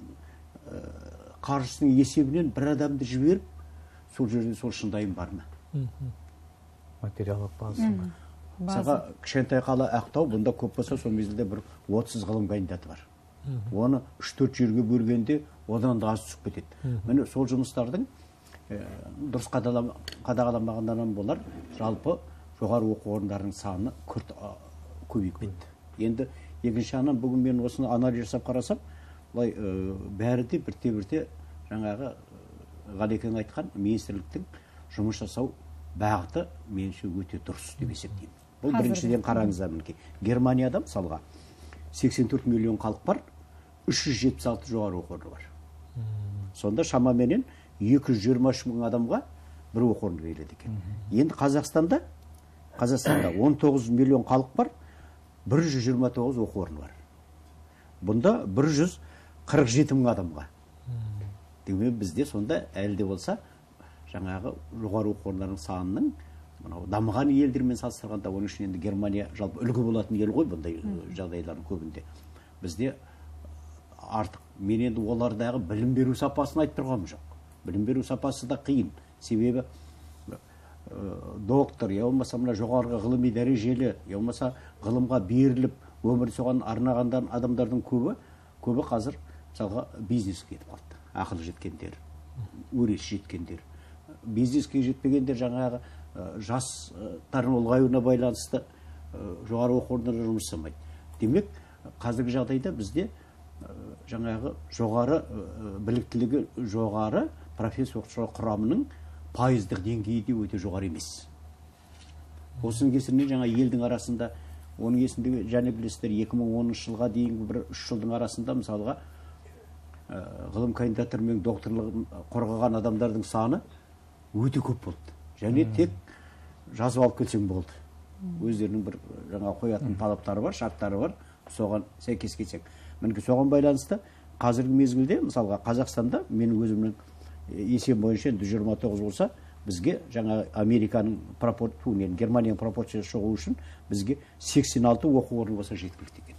қаржысының есебінен бір адамды жіберіп, сол жерде сол шындайым бар ма? Материалдық базасы бар. Саға кішкентай қала Ақтау, бұнда көп болса, сол мезгілде бір отыз ғылым кандидаты бар. Оны үш төрт жерге бөлгенде одан да аз түсіп кетеді. Міне сол жұмыстардың дұрыс қадағаламағаннан болар, жалпы жоғары оқу орындарының саны күрт көбейіп кетті. Енді екінші жағынан бүгін мен осыны анализ жасап қарасам, былай бәрі де бірте-бірте жаңағы Ғалекең айтқан министрліктің жұмыс жасау бағыты меніңше өте дұрыс деп есептеймін. Бұл біріншіден қараңыздар мінекей. Германияда мысалға сексен төрт миллион халық бар, үш жүз жетпіс алты жоғары оқу орны бар. Сонда шамаменен екі жүз жиырма үш мың адамға бір оқу орны беріледі екен. Енді Қазақстанда, Қазақстанда он тоғыз миллион халық бар, бір жүз жиырма тоғыз оқу орны бар. Бұнда бір жүз қырық жеті мың адамға. Демек бізде сонда әлі де болса жаңағы жоғары оқу орындарының санының дамыған елдермен салыстырғанда, оның үшін енді Германия жалпы үлгі болатын ел ғой бұндай жағдайлардың көбінде. Бізде артық, мен енді олардағы білім беру сапасын айтып тұрғаным жоқ. Білім беру сапасы да қиын. Себебі доктор, я болмаса мына жоғарғы ғылыми дәрежелі, я болмаса ғылымға беріліп, өмір соған арнаған адамдардың көбі, көбі қазір мысалға бизнеске кетіп қалды. Ақыл жеткендер, өрес жеткендер. Бизнеске жетпегендер жаңағы жастардың ұлғаюына байланысты жоғары оқу орындарында жұмыс жасамайды. Демек, қазіргі жағдайда бізде жаңағы жоғары біліктілігі жоғары профессор оқытушылар құрамының пайыздық деңгейі де өте жоғары емес. Осының кесірінен жаңа елдің арасында, оның есіндегі және білесіздер екі мың оныншы жылға дейінгі бір үш жылдың арасында мысалға ғылым кандидаттары мен докторлығын қорғаған адамдардың саны өте көп болды. Және тек жазып алып келсең болды. Өздерінің бір жаңа қоятын талаптары бар, шарттары бар, соған сәйкес келсең. мінекей соған байланысты қазіргі мезгілде мысалға Қазақстанда менің өзімнің есем бойынша жүз жиырма тоғыз болса, бізге жаңа Американың пропорция, Германияның пропорциясы шығу үшін бізге сексен алты оқу орны болса жеткілікті екен.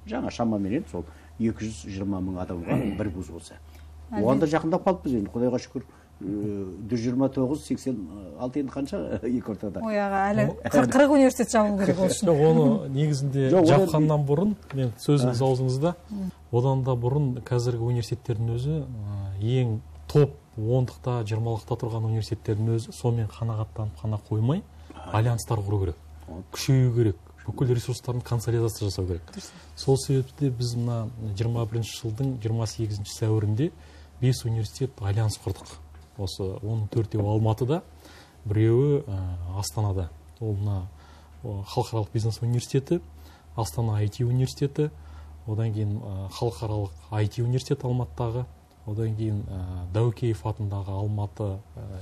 Жаңа шамамен сол екі жүз жиырма мың адамға бір вуз болса. Оған да жақындап қалыппыз енді, Құдайға шүкір. жүз жиырма тоғыз, сексен алты енді қанша екі ортада. Ой аға, әлі қырық университет жабылу керек ол үшін. Оны негізінде жапқаннан бұрын, мен сөзіңіз аузыңызда, одан да бұрын қазіргі университеттердің өзі ең топ ондықта, жиырмалықта тұрған университеттердің өзі сонымен қанағаттанып қана қоймай, альянстар құру керек, күшею керек, бүкіл ресурстарын консолидация жасау керек. Сол себепте біз мына жиырма бірінші жылдың жиырма сегізінші сәуірінде бес университет альянс құрдық. Осы оның төртеуі Алматыда, біреуі Астанада. Ол мына халықаралық бизнес университеті, Астана ай ти университеті, одан кейін халықаралық ай ти университеті Алматыдағы, одан кейін Дәукеев атындағы Алматы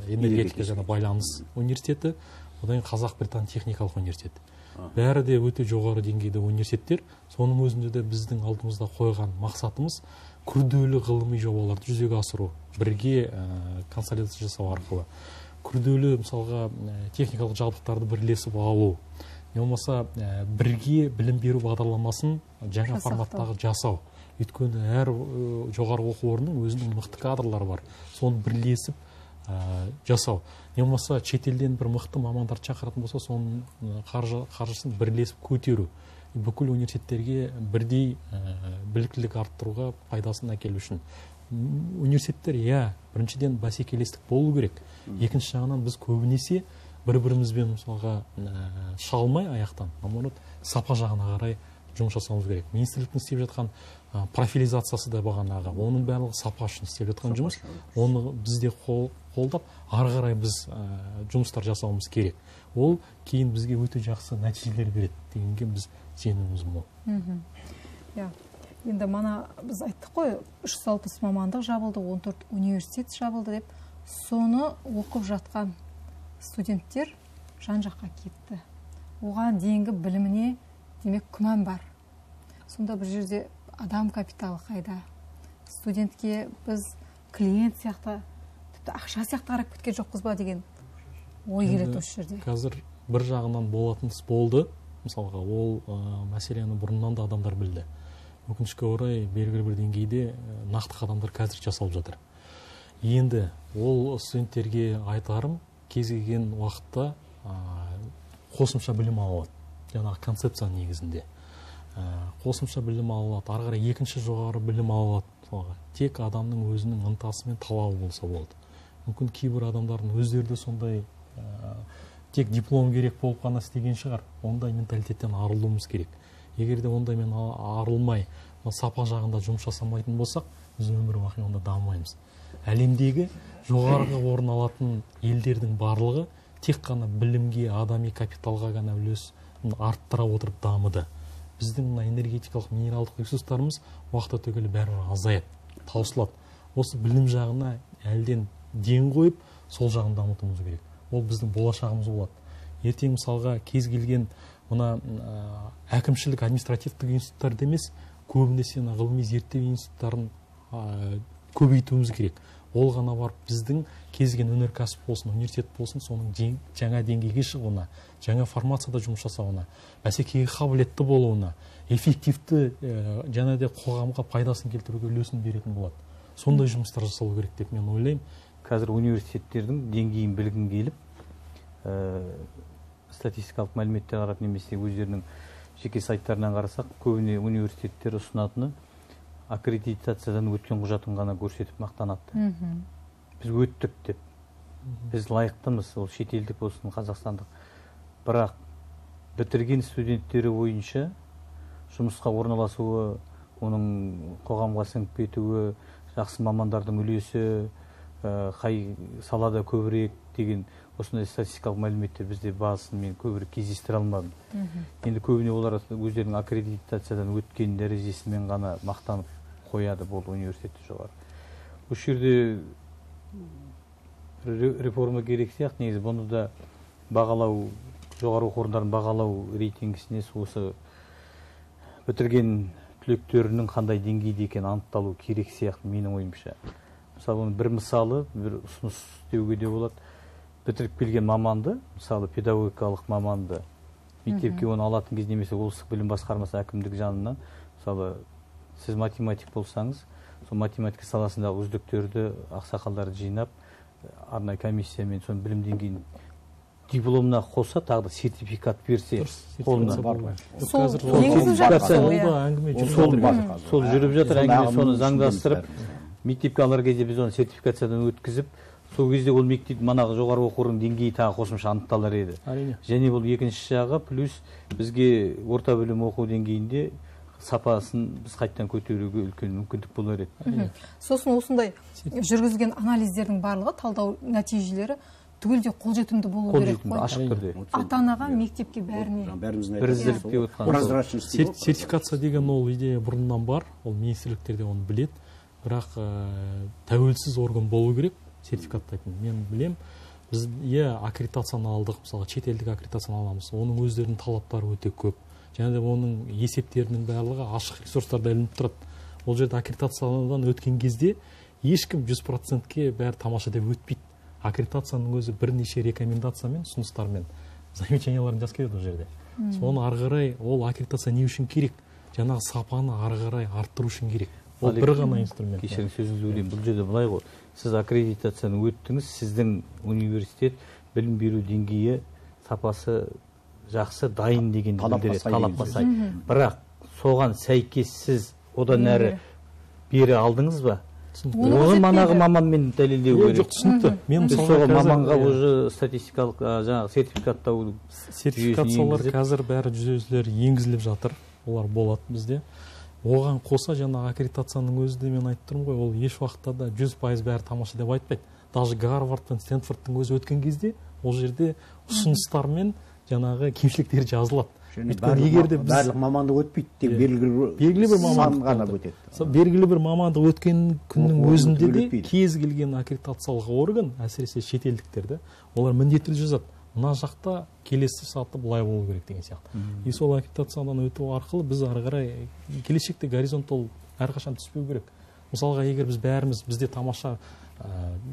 энергетика және байланыс университеті, одан кейін Қазақ-Британ техникалық университеті. Бәрі де өте жоғары деңгейде университеттер. Соның өзінде де біздің алдымызда қойған мақсатымыз күрделі ғылыми жобаларды жүзеге асыру, бірге консолидация жасау арқылы. Күрделі мысалға техникалық жабдықтарды бірлесіп алу, не болмаса бірге білім беру бағдарламасын жаңа форматтағы жасау. Өйткені әр жоғары оқу орнының өзінің мықты кадрлары бар. Соны бірлесіп жасау. Не болмаса шетелден бір мықты мамандарды шақыратын болса, соның қаржысын бірлесіп көтеру. Бүкіл университеттерге бірдей біліктілік арттыруға пайдасын әкелу үшін. Университеттер, иә, біріншіден бәсекелестік болу керек. Екінші жағынан біз көбінесе бір-бірімізбен мысалға шалмай аяқтан, наоборот, сапа жағына қарай жұмыс жасауымыз керек. Министрліктің істеп жатқан профилизациясы да бағанағы, оның барлығы сапа үшін істеп жатқан жұмыс. Оны бізде қолдап, ары қарай біз жұмыстар жасауымыз керек. Ол кейін бізге өте жақсы нәтижелер береді дегенге біз сеніміміз мол. Енді мана біз айттық қой, үш жүз алпыс мамандық жабылды, он төрт университет жабылды деп, соны оқып жатқан студенттер жан жаққа кетті. Оған дейінгі біліміне демек күмән бар. Сонда бір жерде адам капиталы қайда? Студентке біз клиент сияқты, тіпті ақша сияқты қарап кеткен жоқпыз ба деген ой келеді осы жерде. Қазір бір жағынан болатын іс болды. Мысалға, ол мәселені бұрыннан да адамдар білді. Өкінішке орай белгілі бір деңгейде нақты қадамдар қазір жасалып жатыр. Енді ол студенттерге айтарым, кез келген уақытта қосымша білім алады. Жаңағы концепция негізінде. Қосымша білім алады, ары қарай екінші жоғары білім алады. Тек адамның өзінің ынтасы мен талабы болса болды. Мүмкін кейбір адамдардың өздері де сондай тек диплом керек болып қана істеген шығар. Ондай менталитеттен арылуымыз керек. Егер де ондай мен арылмай, сапа жағында жұмыс жасамайтын болсақ, біз өмір бақи онда дамымаймыз. Әлемдегі жоғарғы орын алатын елдердің барлығы тек қана білімге, адами капиталға ғана үлес арттыра отырып дамыды. Біздің энергетикалық минералдық ресурстарымыз уақыт өте келе бәрібір азаяды, таусылады. Осы білім жағына әлден ден қойып, сол жағын дамытуымыз керек. Ол біздің болашағымыз болады. Ертең мысалға кез келген мына әкімшілік административтік институттарды емес, көбінесе ғылыми зерттеу институттарын көбейтуіміз керек. Ол ғана барып біздің кез келген өнеркәсіп болсын, университет болсын, соның жаңа деңгейге шығуына, жаңа формацияда жұмыс жасауына, бәсекеге қабілетті болуына, эффективті және де қоғамға пайдасын келтіруге үлесін беретін болады. Сондай жұмыстар жасалу керек деп мен ойлаймын. Қазір университеттердің деңгейін білгін келіп, статистикалық мәліметтер қарап немесе өздерінің жеке сайттарынан қарасақ, көбіне университеттер ұсынатыны аккредитациядан өткен құжатын ғана көрсетіп мақтанады. Біз өттік деп, біз лайықтымыз, ол шетелдік болсын, қазақстандық. Бірақ бітірген студенттері бойынша жұмысқа орналасуы, оның қоғамға сіңіп кетуі, жақсы мамандардың үлесі, қай салада көбірек деген осындай статистикалық мәліметтер бізде базысын мен көбірек кездестіре алмадым. Енді көбіне олар өздерінің аккредитациядан өткен дәрежесімен ғана мақтанып қояды, бұл университетті жоғары. Осы жерде реформа керек сияқты, негізі бұны да бағалау, жоғары оқу орындарын бағалау рейтингісіне осы бітірген түлектерінің қандай деңгейде екені анықталу керек сияқты менің ойымша. Мысалы оның бір мысалы, бір ұсыныс істеуге де болады. Бітіріп келген маманды, мысалы педагогикалық маманды мектепке оны алатын кезде немесе облыстық білім басқармасы әкімдік жанынан, мысалы сіз математик болсаңыз, сол математика саласындағы үздіктерді, ақсақалдарды жинап, арнайы комиссиямен соның білім деңгейін дипломына қоса тағы да сертификат берсе қолына. Сол енгізіп жатыр. Сол жүріп жатыр, әңгіме соны заңдастырып, мектепке алар кезде біз оны сертификациядан өткізіп, сол кезде ол мектеп манағы жоғары оқу орнының деңгейі тағы қосымша анықталар еді. Және бұл екінші жағы, плюс бізге орта білім оқу деңгейінде сапасын біз қайттан көтеруге үлкен мүмкіндік болар еді. Сосын осындай жүргізген анализдердің барлығы, талдау нәтижелері түгелде қолжетімді болу керек қой. Ашық түрде. Ата-анаға, мектепке, бәріне. Бірізділікте отқан. Сертификация деген ол идея бұрыннан бар, ол министрліктерде оны білет, бірақ тәуелсіз орган болу керек сертификаттайтын. Мен білем, біз е аккредитацияны алдық, мысалы шетелдік аккредитацияны аламыз, оның өздерінің талаптары өте көп. Және де оның есептерінің барлығы ашық ресурстарда ілініп тұрады. Ол жерде аккредитациядан өткен кезде ешкім жүз процентке бәрі тамаша деп өтпейді. Аккредитацияның өзі бірнеше рекомендациямен, ұсыныстармен замечанияларын жазып келеді ол жерде. Соны ары қарай ол аккредитация не үшін керек? Жаңағы сапаны ары қарай арттыру үшін керек. Ол бір ғана инструмент. Кешіріңіз, сөзіңізді бөлейін. Бұл жерде былай ғой. Сіз аккредитацияны өттіңіз, сіздің университет білім беру деңгейі сапасы жақсы, дайын деген білдіреді, талапқа сай. Бірақ соған сәйкес сіз одан әрі бері алдыңыз ба? Оны манағы маманмен дәлелдеу керек. Жоқ, түсінікті. Мен соған маманға уже статистикалық жаңағы сертификаттау сертификациялар қазір бәрі жүзеге енгізіліп жатыр. Олар болады бізде. Оған қоса жаңағы аккредитацияның өзі де мен айтып тұрмын ғой, ол еш уақытта да жүз пайыз бәрі тамаша деп айтпайды. Даже Гарвард пен Стэнфордтың өзі өткен кезде ол жерде ұсыныстар мен жаңағы кемшіліктер жазылады. Барлық мамандық өтпейді, тек белгілі бір мамандық ғана өтеді. Белгілі бір мамандық өткен күннің өзінде де кез келген аккредитациялық орган, әсіресе шетелдіктерді, олар міндетті жазады. Мына жақта келесі саты былай болу керек деген сияқты. И сол аккредитациядан өту арқылы біз ары қарай келешекте горизонт ол әрқашан түспеу керек. Мысалға, егер біз бәріміз бізде тамаша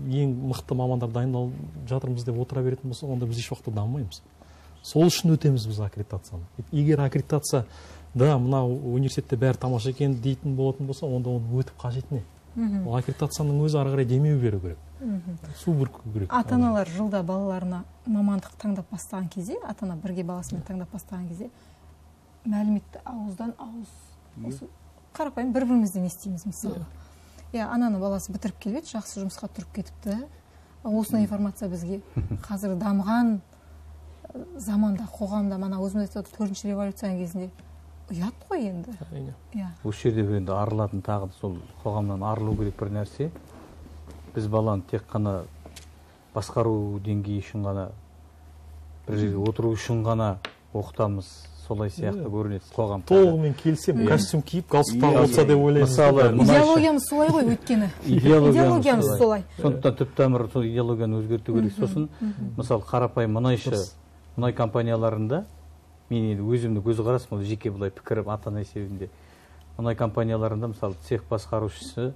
ең мықты мамандар дайындалып жатырмыз деп отыра беретін болса, онда біз еш уақытта дамымаймыз. Сол үшін өтеміз біз аккредитацияны. Егер аккредитация да мына университетте бәрі тамаша екен дейтін болатын болса, онда оны өтіп қажет не? Ол аккредитацияның өзі ары қарай демеу беру керек. Су бүрку керек. Ата-аналар жылда балаларына мамандық таңдап бастаған кезде, ата-ана бірге баласымен таңдап бастаған кезде, мәліметті ауыздан ауыз қарапайым бір-бірімізден естиміз мысалы. Я ананы баласы бітіріп келеді, жақсы жұмысқа тұрып кетіпті. Осындай информация бізге қазір дамыған заманда, қоғамда, мана өзіміз айтып төртінші революцияның кезінде ұят қой енді. Осы жерде бір енді арылатын тағы сол қоғамнан арылу керек бір нәрсе. Біз баланы тек қана басқару деңгейі үшін ғана, бір жерге отыру үшін ғана оқытамыз, солай сияқты көрінеді қоғам. Толығымен келсем, костюм киіп, галстук тағып алса деп ойлаймыз. Идеологиямыз солай ғой өйткені. Идеологиямыз солай. Сондықтан түп тамыры сол идеологияны өзгерту керек. Сосын, мысалы, қарапайым мұнайшы мұнай компанияларында, мен енді өзімді көзқарасым, ол жеке былай пікірім ата-ана есебінде. Мұнай компанияларында, мысалы, цех басқарушысы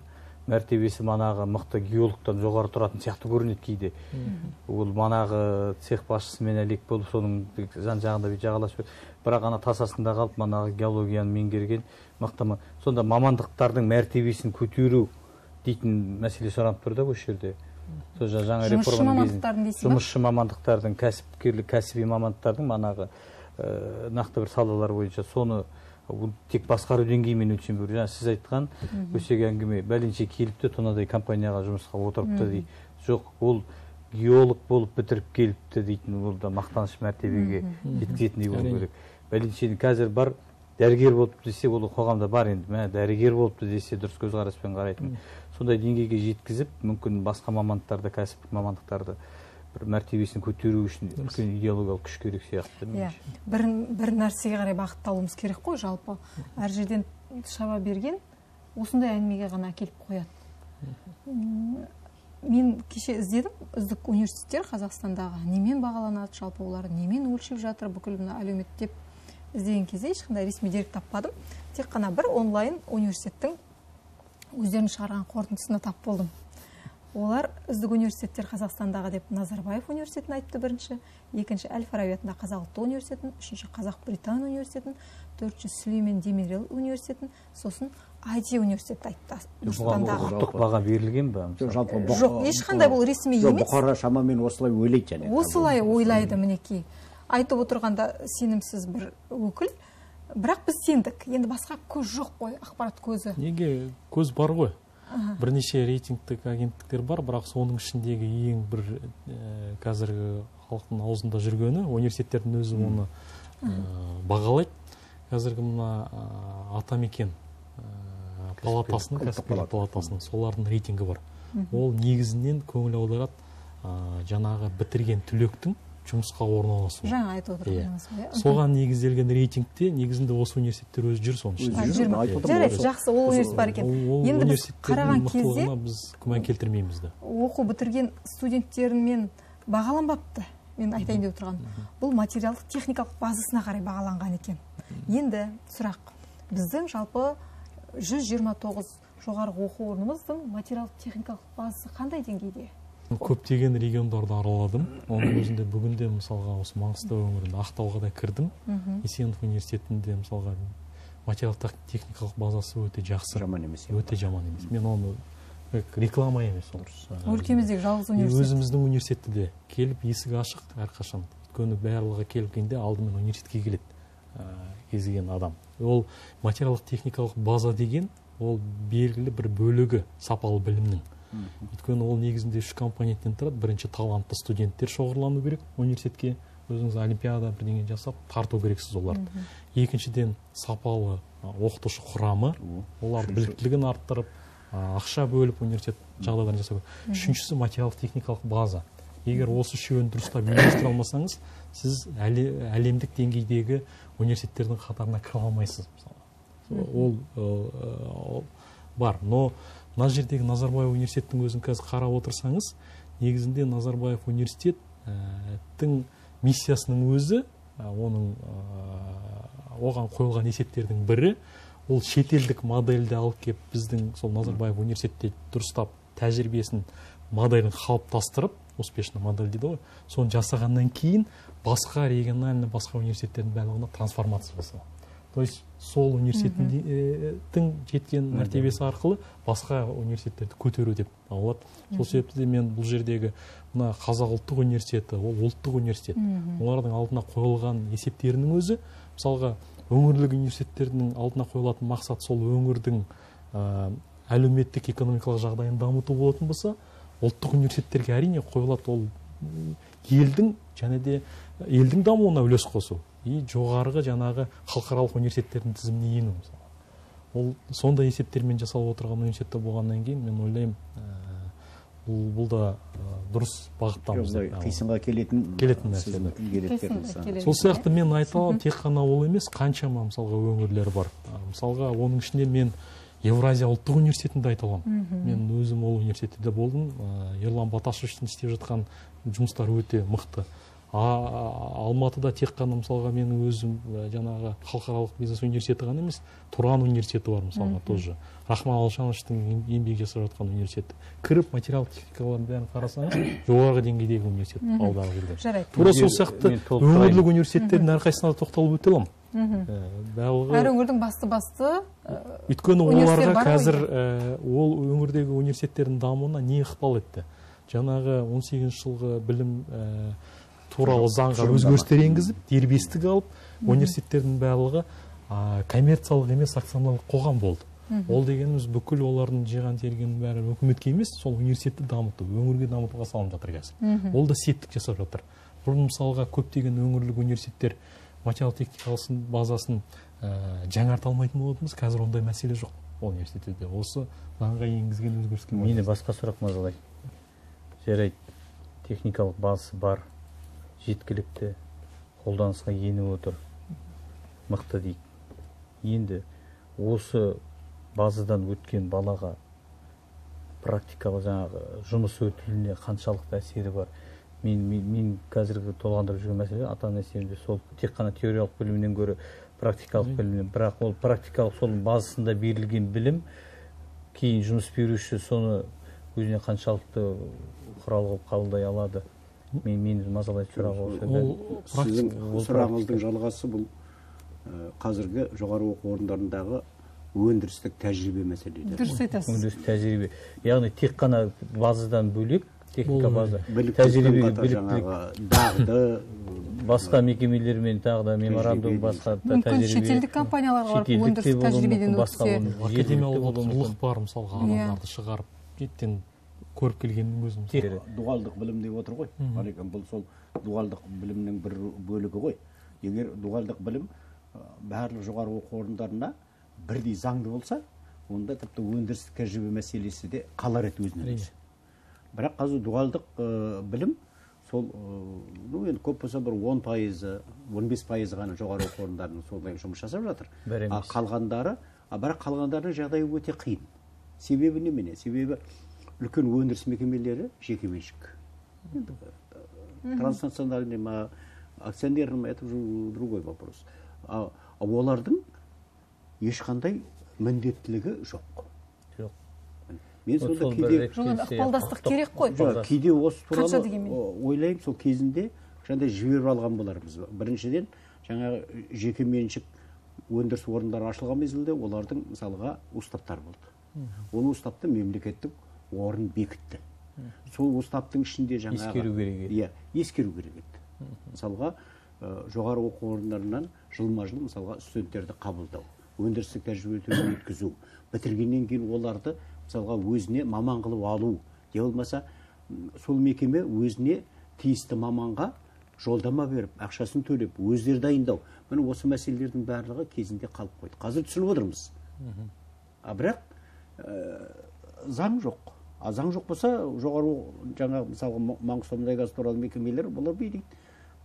мәртебесі манағы мықты геологтан жоғары тұратын сияқты көрінеді кейде. Ол манағы цех басшысымен әлек болып, соның жан-жағында бет жағаласып, бірақ ана тасасында қалып, манағы геологияны меңгерген мықты. Сонда мамандықтардың мәртебесін көтеру дейтін мәселе сұранып тұр да осы жерде. Жаңа реформаның кезінде жұмысшы мамандықтардың, кәсіпкерлік, кәсіби мамандықтардың манағы нақты бір салалар бойынша соны тек басқару деңгейімен өлшем беру. Жаңа сіз айтқан өсек әңгіме бәленше келіпті, тонадай компанияға жұмысқа отырыпты дейді. Жоқ, ол геолог болып бітіріп келіпті дейтін, ол да мақтаныш мәртебеге жеткізетіндей болу керек. Бәленшені қазір бар, дәрігер болыпты десе, ол қоғамда бар енді. Мә дәрігер болыпты десе, дұрыс көзқараспен қарайтын. Сондай деңгейге жеткізіп, мүмкін басқа мамандықтарды, кәсіптік мамандықтарды бір мәртебесін көтеру үшін үлкен идеологиялық күш керек сияқты. Бір бір нәрсеге қарай бағытталуымыз керек қой, жалпы. Әр жерден шаба берген осындай әңгімеге ғана әкеліп қояды. Мен кеше іздедім, үздік университеттер Қазақстандағы немен бағаланады, жалпы олар немен өлшеп жатыр, бүкіл мына әлеумет деп іздеген кезде ешқандай ресми дерек таппадым. Тек қана бір онлайн университеттің өздерінің шығарған қорытындысына тап болдым. Олар үздік университеттер Қазақстандағы деп Назарбаев университетін айтты бірінші, екінші Әл-Фараби атындағы Қазақ ұлттық университетін, үшінші Қазақ-Британ университетін, төртінші Сүлеймен Демирел университетін, сосын ай ти университеті айтты. Құқықтық баға берілген бе? Жоқ, ешқандай бұл ресми емес. Бұқара шамамен осылай ойлайды және. Осылай ойлайды мінекей. Айтып отырғанда сенімсіз бір өкіл, бірақ біз сендік. Енді басқа көз жоқ қой, ақпарат көзі. Неге көз бар ғой? Бірнеше рейтингтік агенттіктер бар, бірақ соның ішіндегі ең бір қазіргі халықтың аузында жүргені университеттердің өзі оны бағалайды. Қазіргі мына Атамекен палатасының, кәсіпкерлер палатасының солардың рейтингі бар. Ол негізінен көңіл аударады жаңағы бітірген түлектің жұмысқа орналасу. Жаңа айтып отырғаныңыз ғой. Соған негізделген рейтингте негізінде осы университеттер өзі жүр соның ішінде. Жарайды, жақсы, ол университет бар екен. Енді біз қараған кезде біз күмән келтірмейміз да. Оқу бітірген студенттермен бағаланбапты. Мен айтайын деп отырғаным. Бұл материалдық техникалық базасына қарай бағаланған екен. Енді сұрақ. Біздің жалпы жүз жиырма тоғыз жоғарғы оқу орнымыздың материалдық техникалық базасы қандай деңгейде? Көптеген региондарды араладым. Оның өзінде бүгінде мысалға осы Маңғыстау өңірінде Ақтауға да кірдім. Есенов университетінде мысалға материалдық техникалық базасы өте жақсы. Жаман емес. Өте жаман емес. Мен оны реклама емес. Өлкеміздегі жалғыз университет. Өзіміздің университетте де келіп есік ашық әрқашан. Өйткені барлығы келгенде алдымен университетке келеді кезген адам. Ол материалдық техникалық база деген ол белгілі бір бөлігі сапалы білімнің. Өйткені ол негізінде үш компоненттен тұрады. Бірінші талантты студенттер шоғырлану керек университетке, өзіңіз олимпиада бірдеңе жасап тарту керексіз оларды. Екіншіден сапалы оқытушы құрамы, олардың біліктілігін арттырып, ақша бөліп университет жағдайларын жасау керек. Үшіншісі материалдық техникалық база. Егер осы үшеуін дұрыстап үйлестіре алмасаңыз, сіз әлемдік деңгейдегі университеттердің қатарына кіре алмайсыз. Ол бар, но мына жердегі Назарбаев университеттің өзін қазір қарап отырсаңыз, негізінде Назарбаев университеттің миссиясының өзі, оның оған қойылған есептердің бірі, ол шетелдік модельді алып келіп біздің сол Назарбаев университетте дұрыстап тәжірибесін моделін қалыптастырып, успешный модель дейді ғой, соны жасағаннан кейін басқа региональный басқа университеттердің барлығына трансформация жасау. То есть сол университеттің жеткен мәртебесі арқылы басқа университеттерді көтеру деп алады. Сол себепті де мен бұл жердегі мына Қазақ ұлттық университеті, ол ұлттық университет. Олардың алдына қойылған есептерінің өзі, мысалға өңірлік университеттердің алдына қойылатын мақсат сол өңірдің әлеуметтік экономикалық жағдайын дамыту болатын болса, ұлттық университеттерге әрине қойылады ол елдің және де елдің дамуына үлес қосу. И жоғарғы жаңағы халықаралық университеттердің тізіміне ену. Ол сондай есептермен жасалып отырған университетте болғаннан кейін мен ойлаймын, бұл да дұрыс бағыттамыз. Қисынға келетін келетін нәрсе. Сол сияқты мен айта аламын, тек қана ол емес, қаншама мысалға өңірлер бар. Мысалға оның ішінде мен Евразия ұлттық университетінде айта аламын. Мен өзім ол университетте болдым. Ерлан Баташевичтің істеп жатқан жұмыстар өте мықты. Алматыда тек қана мысалға менің өзім жаңағы халықаралық бизнес университеті ғана емес, Тұран университеті бар мысалға тоже. Рахман Алшановичтың еңбек жасап жатқан университеті. Кіріп материал техникаларын бәрін қарасаңыз, жоғарғы деңгейдегі университет алдағы келген. Жарайды. Тура сол сияқты өңірлік университеттердің әрқайсысына тоқталып өте аламын. Әр өңірдің басты-басты өйткені оларға қазір ол өңірдегі университеттердің дамуына не ықпал етті? Жаңағы он сегізінші жылғы білім туралы заңға өзгерістер енгізіп, дербестік алып, университеттердің барлығы коммерциялық емес акционерлік қоғам болды. Ол дегеніміз бүкіл олардың жиған тергеннің бәрі үкіметке емес, сол университетті дамыту, өңірге дамытуға салынып жатыр қазір. Ол да септік жасап жатыр. Бұрын мысалға көптеген өңірлік университеттер материал техникалық базасын жаңарта алмайтын болатынбыз, қазір ондай мәселе жоқ университетте. Осы заңға енгізген өзгеріске. Мені басқа сұрақ мазалайды. Жарайды, техникалық базасы бар, жеткілікті, қолданысқа еніп отыр, мықты дейік. Енді осы базадан өткен балаға практикалық жаңағы жұмыс өтіліне қаншалықты әсері бар, мен мен қазіргі толғандырып жүрген мәселе ата ана есебінде сол тек қана теориялық білімнен гөрі практикалық білімнен, бірақ ол практикалық сол базасында берілген білім кейін жұмыс беруші соны өзіне қаншалықты құрал қылып қабылдай алады. Мен мен мазалайтын сұрақ осы. Сіздің сұрағыңыздың жалғасы бұл қазіргі жоғары оқу орындарындағы өндірістік тәжірибе мәселелері. Дұрыс айтасыз. Өндірістік тәжірибе. Яғни тек қана базадан бөлек, техника база, тәжірибе, дағды, басқа мекемелермен тағы да меморандум, басқа тәжірибе. Мүмкін шетелдік компанияларға барып өндірістік тәжірибеден өтсе. Академиялық құндылық бар, мысалға адамдарды шығарып, еттен көріп келгеннің өзін. Дуалдық білім деп отыр ғой. Бұл сол дуалдық білімнің бір бөлігі ғой. Егер дуалдық білім барлық жоғары оқу орындарына бірдей заңды болса, онда тіпті өндірістік тәжірибе мәселесі де қалар еді өзінен өзі. Бірақ қазір дуалдық білім сол, ну енді көп болса бір он пайызы, он бес пайызы ғана жоғары оқу орындарының солай жұмыс жасап жатыр. А қалғандары, бірақ қалғандарының жағдайы өте қиын. Себебі немене? Себебі үлкен өндіріс мекемелері жекеменшік. Транснациональный ма, акционерный ма, это другой вопрос. А олардың ешқандай міндеттілігі жоқ. Жоқ. Мен сонда кейде ықпалдастық керек қой. Кейде осы туралы ойлаймын, сол кезінде жаңағыдай жіберіп алған болармыз. Біріншіден, жаңағы жеке меншік өндіріс орындары ашылған мезгілде олардың мысалға уставтар болды. Ол уставты мемлекеттік орын бекітті. Сол уставтың ішінде жаңағы ескеру керек еді. Иә, ескеру керек еді. Мысалға жоғары оқу орындарынан жылма-жыл мысалға студенттерді қабылдау, өндірістік тәжірибеден өткізу, бітіргеннен кейін оларды мысалға өзіне маман қылып алу, не болмаса сол мекеме өзіне тиісті маманға жолдама беріп, ақшасын төлеп, өздері дайындау. Міне осы мәселелердің барлығы кезінде қалып қойды. Қазір түсініп отырмыз. А бірақ заң жоқ. А заң жоқ болса, жоғары жаңағы мысалға Маңғыстау-Мұнайгаз туралы мекемелер бұлар бейдейді.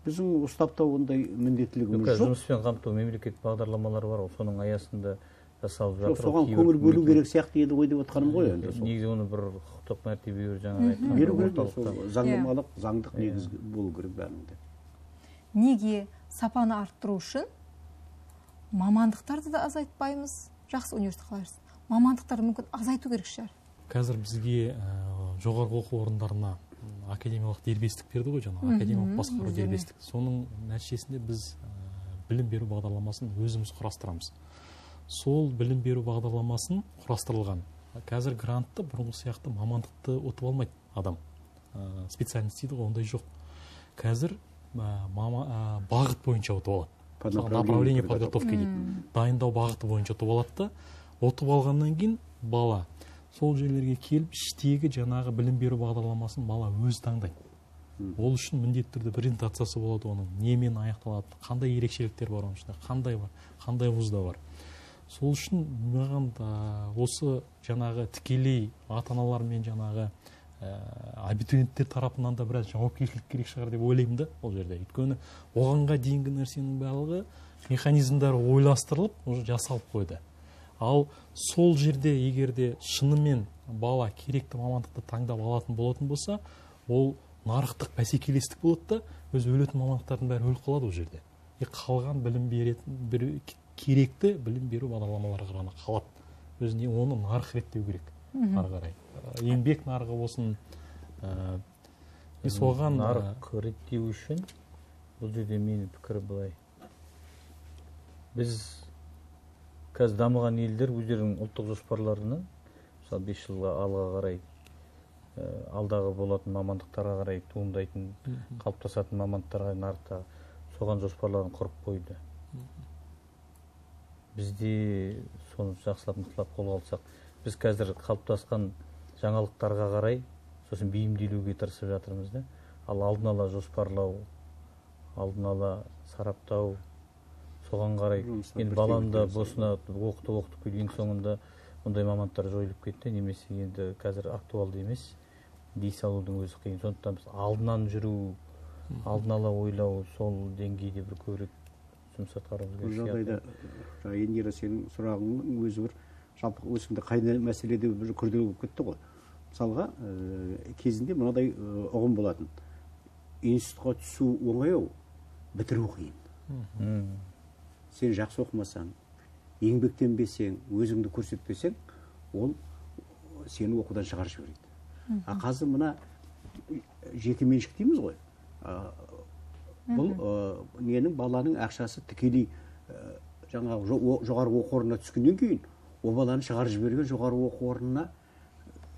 Біздің ұстапта ондай міндеттілігіміз жоқ. Жұмыспен қамту мемлекет бағдарламалары бар, соның аясында жасалып жатыр. Соған көңіл бөлу керек сияқты еді ғой деп отқаным ғой енді. Негізі оны бір құқықтық мәртебе беру жаңағы айтқан. Беру керек, заңнамалық, заңдық негіз болу керек бәрінде. Неге сапаны арттыру үшін мамандықтарды да азайтпаймыз? Жақсы университет қалайсыз? Мамандықтарды мүмкін азайту керек шығар. Қазір бізге жоғарғы оқу орындарына академиялық дербестік берді ғой, жаңа академиялық басқару дербестік. Соның нәтижесінде біз білім беру бағдарламасын өзіміз құрастырамыз. Сол білім беру бағдарламасын құрастырылған. Қазір грантты бұрынғы сияқты мамандықты ұтып алмайды адам. Специальность дейді ғой, ондай жоқ. Қазір бағыт бойынша ұтып алады. Направление подготовки дейді. Дайындау бағыты бойынша ұтып алады да, ұтып алғаннан кейін бала сол жерлерге келіп, іштегі жаңағы білім беру бағдарламасын бала өз таңдайды. Ол үшін міндетті түрде презентациясы болады оның, немен аяқталады, қандай ерекшеліктер бар оның ішінде, қандай бар, қандай вузда бар. Сол үшін маған осы жаңағы тікелей ата-аналар мен жаңағы абитуриенттер тарапынан да біраз жауапкершілік керек шығар деп ойлаймын да ол жерде. Өйткені оғанға дейінгі нәрсенің барлығы механизмдері ойластырылып, уже жасалып қойды. Ал сол жерде егерде шынымен бала керекті мамандықты таңдап алатын болатын болса, ол нарықтық бәсекелестік болады да, өз өлетін мамандықтардың бәрі өліп қалады ол жерде. И қалған білім беретін керекті білім беру бағдарламалары ғана қалады. Өзіне оны нарық реттеу керек. Ары қарай. Еңбек нарығы болсын, соған нарық реттеу үшін бұл жерде менің пікірі былай. Біз қазір дамыған елдер өздерінің ұлттық жоспарларынан, мысалы бес жылға алға қарай, алдағы болатын мамандықтарға қарай туындайтын, қалыптасатын мамандықтарға нарықта соған жоспарларын құрып қойды. Бізде соны жақсылап нықтылап қолға алсақ, біз қазір қалыптасқан жаңалықтарға қарай сосын бейімделуге тырысып жатырмыз да. Ал алдын ала жоспарлау, алдын ала сараптау, соған қарай енді баланы да босына оқытып оқытып келген соңында ондай мамандықтар жойылып кетті, немесе енді қазір актуалды емес, дей салудың өзі қиын. Сондықтан біз алдынан жүру, алдын ала ойлау, сол деңгейде бір көбірек жұмыс атқаруымыз керек. Бұл жағдайда Индира, сенің сұрағыңның өзі бір жалпы осында қайны мәселеде бір күрделі болып кетті ғой. Мысалға кезінде мынадай ұғым болатын. институтқа түсу оңай, бітіру қиын. Сен жақсы оқымасаң, еңбектенбесең, өзіңді көрсетпесең, ол сені оқудан шығарып жібереді. А қазір мына жеке меншік дейміз ғой. Бұл ненің баланың ақшасы тікелей жаңағы жоғарғы оқу орнына түскеннен кейін, о баланы шығарып жіберген жоғарғы оқу орнына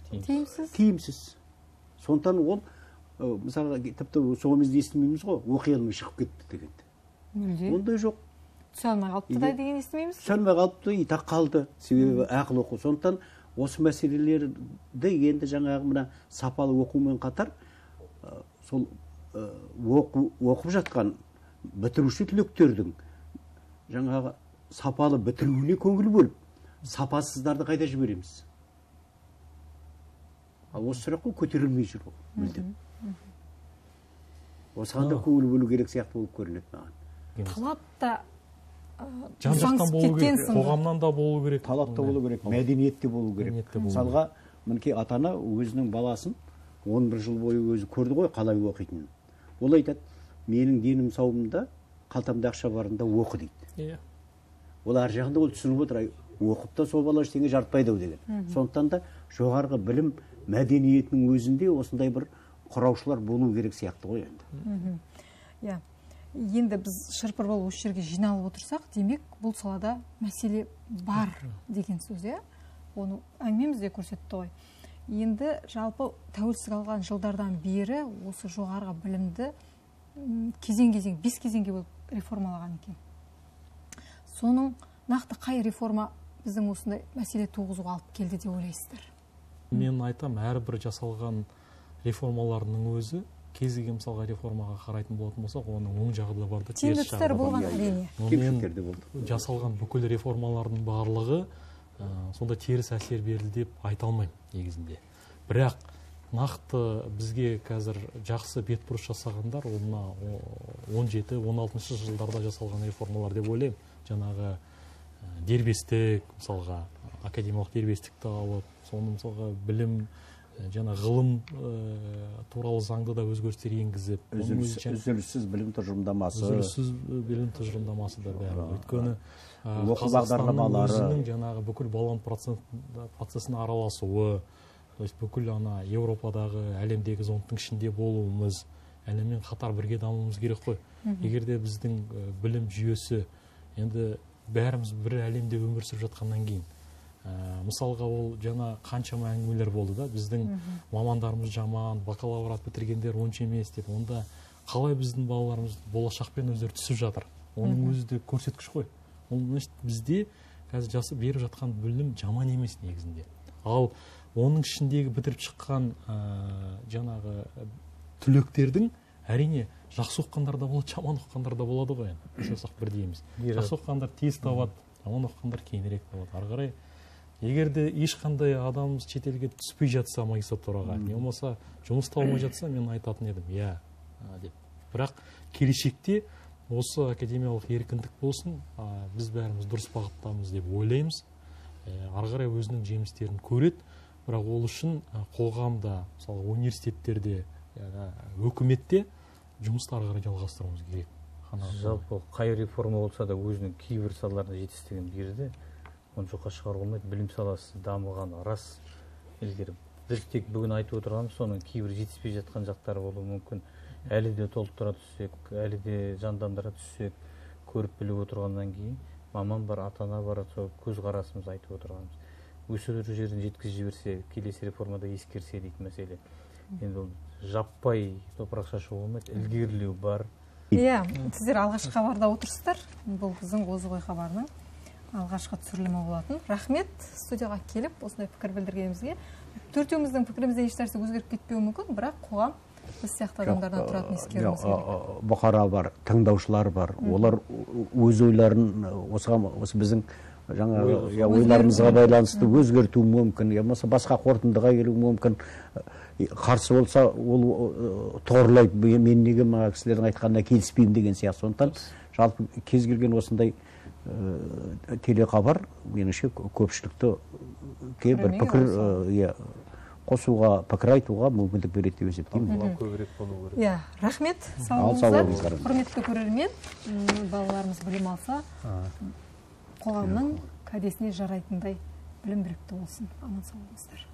тиімсіз. Тиімсіз. Сондықтан ол мысалы тіпті соңымызды естімейміз ғой, оқи алмай шығып кетті дегенді. Мүлде. Ондай жоқ. Түсе алмай қалыпты да деген естімейміз. Түсе алмай қалыпты, итақ қалды. Себебі ақыл оқу. Сондықтан осы мәселелерді енді жаңағы мына сапалы оқумен қатар сол оқып жатқан бітіруші түлектердің жаңағы сапалы бітіруіне көңіл бөліп, сапасыздарды қайда жібереміз? Ал осы сұраққа көтерілмей жүр ол, мүлдем. Осыған да көңіл бөлу керек сияқты болып көрінеді маған. Талап та жан-жақтан болу керек, қоғамнан да болу керек. Талап та болу керек, мәдениет те болу керек. Мысалға, мінекей ата-ана өзінің баласын он бір жыл бойы өзі көрді ғой қалай оқитынын. Ол айтады, менің денім сауымда, қалтамда ақша барында оқы дейді. Ол ар жағында ол түсініп отыр, оқып та сол бала ештеңе жарытпайды деген. Сондықтан да жоғарғы білім мәдениетінің өзінде осындай бір құраушылар болу керек сияқты ғой енді. Иә. Енді біз шырпыр болып осы жерге жиналып отырсақ, демек бұл салада мәселе бар деген сөз, иә? Оны әңгімеміз де көрсетті ғой. Енді жалпы тәуелсіздік алған жылдардан бері осы жоғарғы білімді кезең-кезең, бес кезеңге болып реформалаған екен. Соның нақты қай реформа біздің осындай мәселе туғызуға алып келді деп ойлайсыздар? Мен айтам, әрбір жасалған реформаларының өзі кез келген мысалға реформаға қарайтын болатын болсақ, оның оң жағы да бар да, теріс жағы да бар. Әрине. Жасалған бүкіл реформалардың барлығы сонда теріс әсер берді деп айта алмаймын негізінде. Бірақ нақты бізге қазір жақсы бетбұрыс жасағандар, ол мына он жеті он алтыншы жылдарда жасалған реформалар деп ойлаймын. Жаңағы дербестік, мысалға академиялық дербестікті алып, соны мысалға білім, жаңа ғылым туралы заңды да өзгерістер енгізіп, үзіліссіз білім тұжырымдамасы, үзіліссіз білім тұжырымдамасы да бәрі. Өйткені оқу бағдарламалары, өзінің жаңағы бүкіл баланс процесіне араласуы, бүкіл ана Еуропадағы, әлемдегі зондтың ішінде болуымыз, әлеммен қатар бірге дамуымыз керек қой. Егер де біздің білім жүйесі енді бәріміз бір әлемде өмір сүріп жатқаннан кейін, мысалға ол жаңа қаншама әңгімелер болды да, біздің мамандарымыз жаман, бакалавриат бітіргендер онша емес деп, онда қалай біздің балаларымыз болашақпен өздері түсіп жатыр? Оның өзі де көрсеткіш қой. Ол бізде қазір жасы беріп жатқан білім жаман емес негізінде. Ал оның ішіндегі бітіріп шыққан жаңағы түлектердің әрине жақсы оқығандар да болады, жаман оқығандар да болады ғой. Жасақ бірдей емес. Жақсы оқығандар тез табады, жаман оқығандар кейінірек табады. Ары қарай егер де ешқандай адамымыз шетелге түспей жатса магистратураға, не болмаса жұмыс табылмай жатса, мен айтатын едім, иә деп. Бірақ келешекте осы академиялық еркіндік болсын, біз бәріміз дұрыс бағыттамыз деп ойлаймыз. Ары қарай өзінің жемістерін көреді, бірақ ол үшін қоғамда, мысалы университеттерде, өкіметте жұмысты ары қарай жалғастыруымыз керек. Жалпы қай реформа болса да өзінің кейбір салаларына жетістігін берді. Оны жоққа шығару болмайды. Білім саласы дамығаны рас. Біз тек бүгін айтып отырғанымыз, соның кейбір жетіспей жатқан жақтары болуы мүмкін. Әлі де толықтыра түссек, әлі де жандандыра түссек, көріп біліп отырғаннан кейін, маман бар, ата-ана бар, сол көз қарасымыз айтып отырғанымыз. Осы жерін жеткізіп жіберсе, келесі реформада ескерсе дейді мәселе. Енді ол жаппай топырақ шашу болмайды, ілгерілеу бар. Иә, сіздер алғашқы хабарда отырсыздар. Бұл біздің Озық ой хабарының алғашқы түсірілімі болатын. Рахмет, студияға келіп, осындай пікір білдіргенімізге. Төртеуміздің пікірімізде еш нәрсе өзгеріп кетпеуі мүмкін, бірақ қоғам біз сияқты адамдардан тұратын ескеруіміз керек. Бұқара бар, тыңдаушылар бар. Олар өз ойларын осы біздің жаңа ойларымызға байланысты өзгертуі мүмкін, я болмаса басқа қорытындыға келуі мүмкін. Қарсы болса, ол тоғырлайды, мен неге мына кісілердің айтқанына келіспеймін деген сияқты. Сондықтан жалпы кез келген осындай телекхабар меніңше көпшілікті бір пікір қосуға, пікір айтуға мүмкіндік береді деп есептеймін. талқылау көбірек болу керек. Иә, рахмет. Ал, Сау сау болыңыздар. болыңыздар. Құрметті көрермен, м, балаларымыз білім алса, қоғамның кәдесіне жарайтындай білім білікті болсын. Аман сау болыңыздар.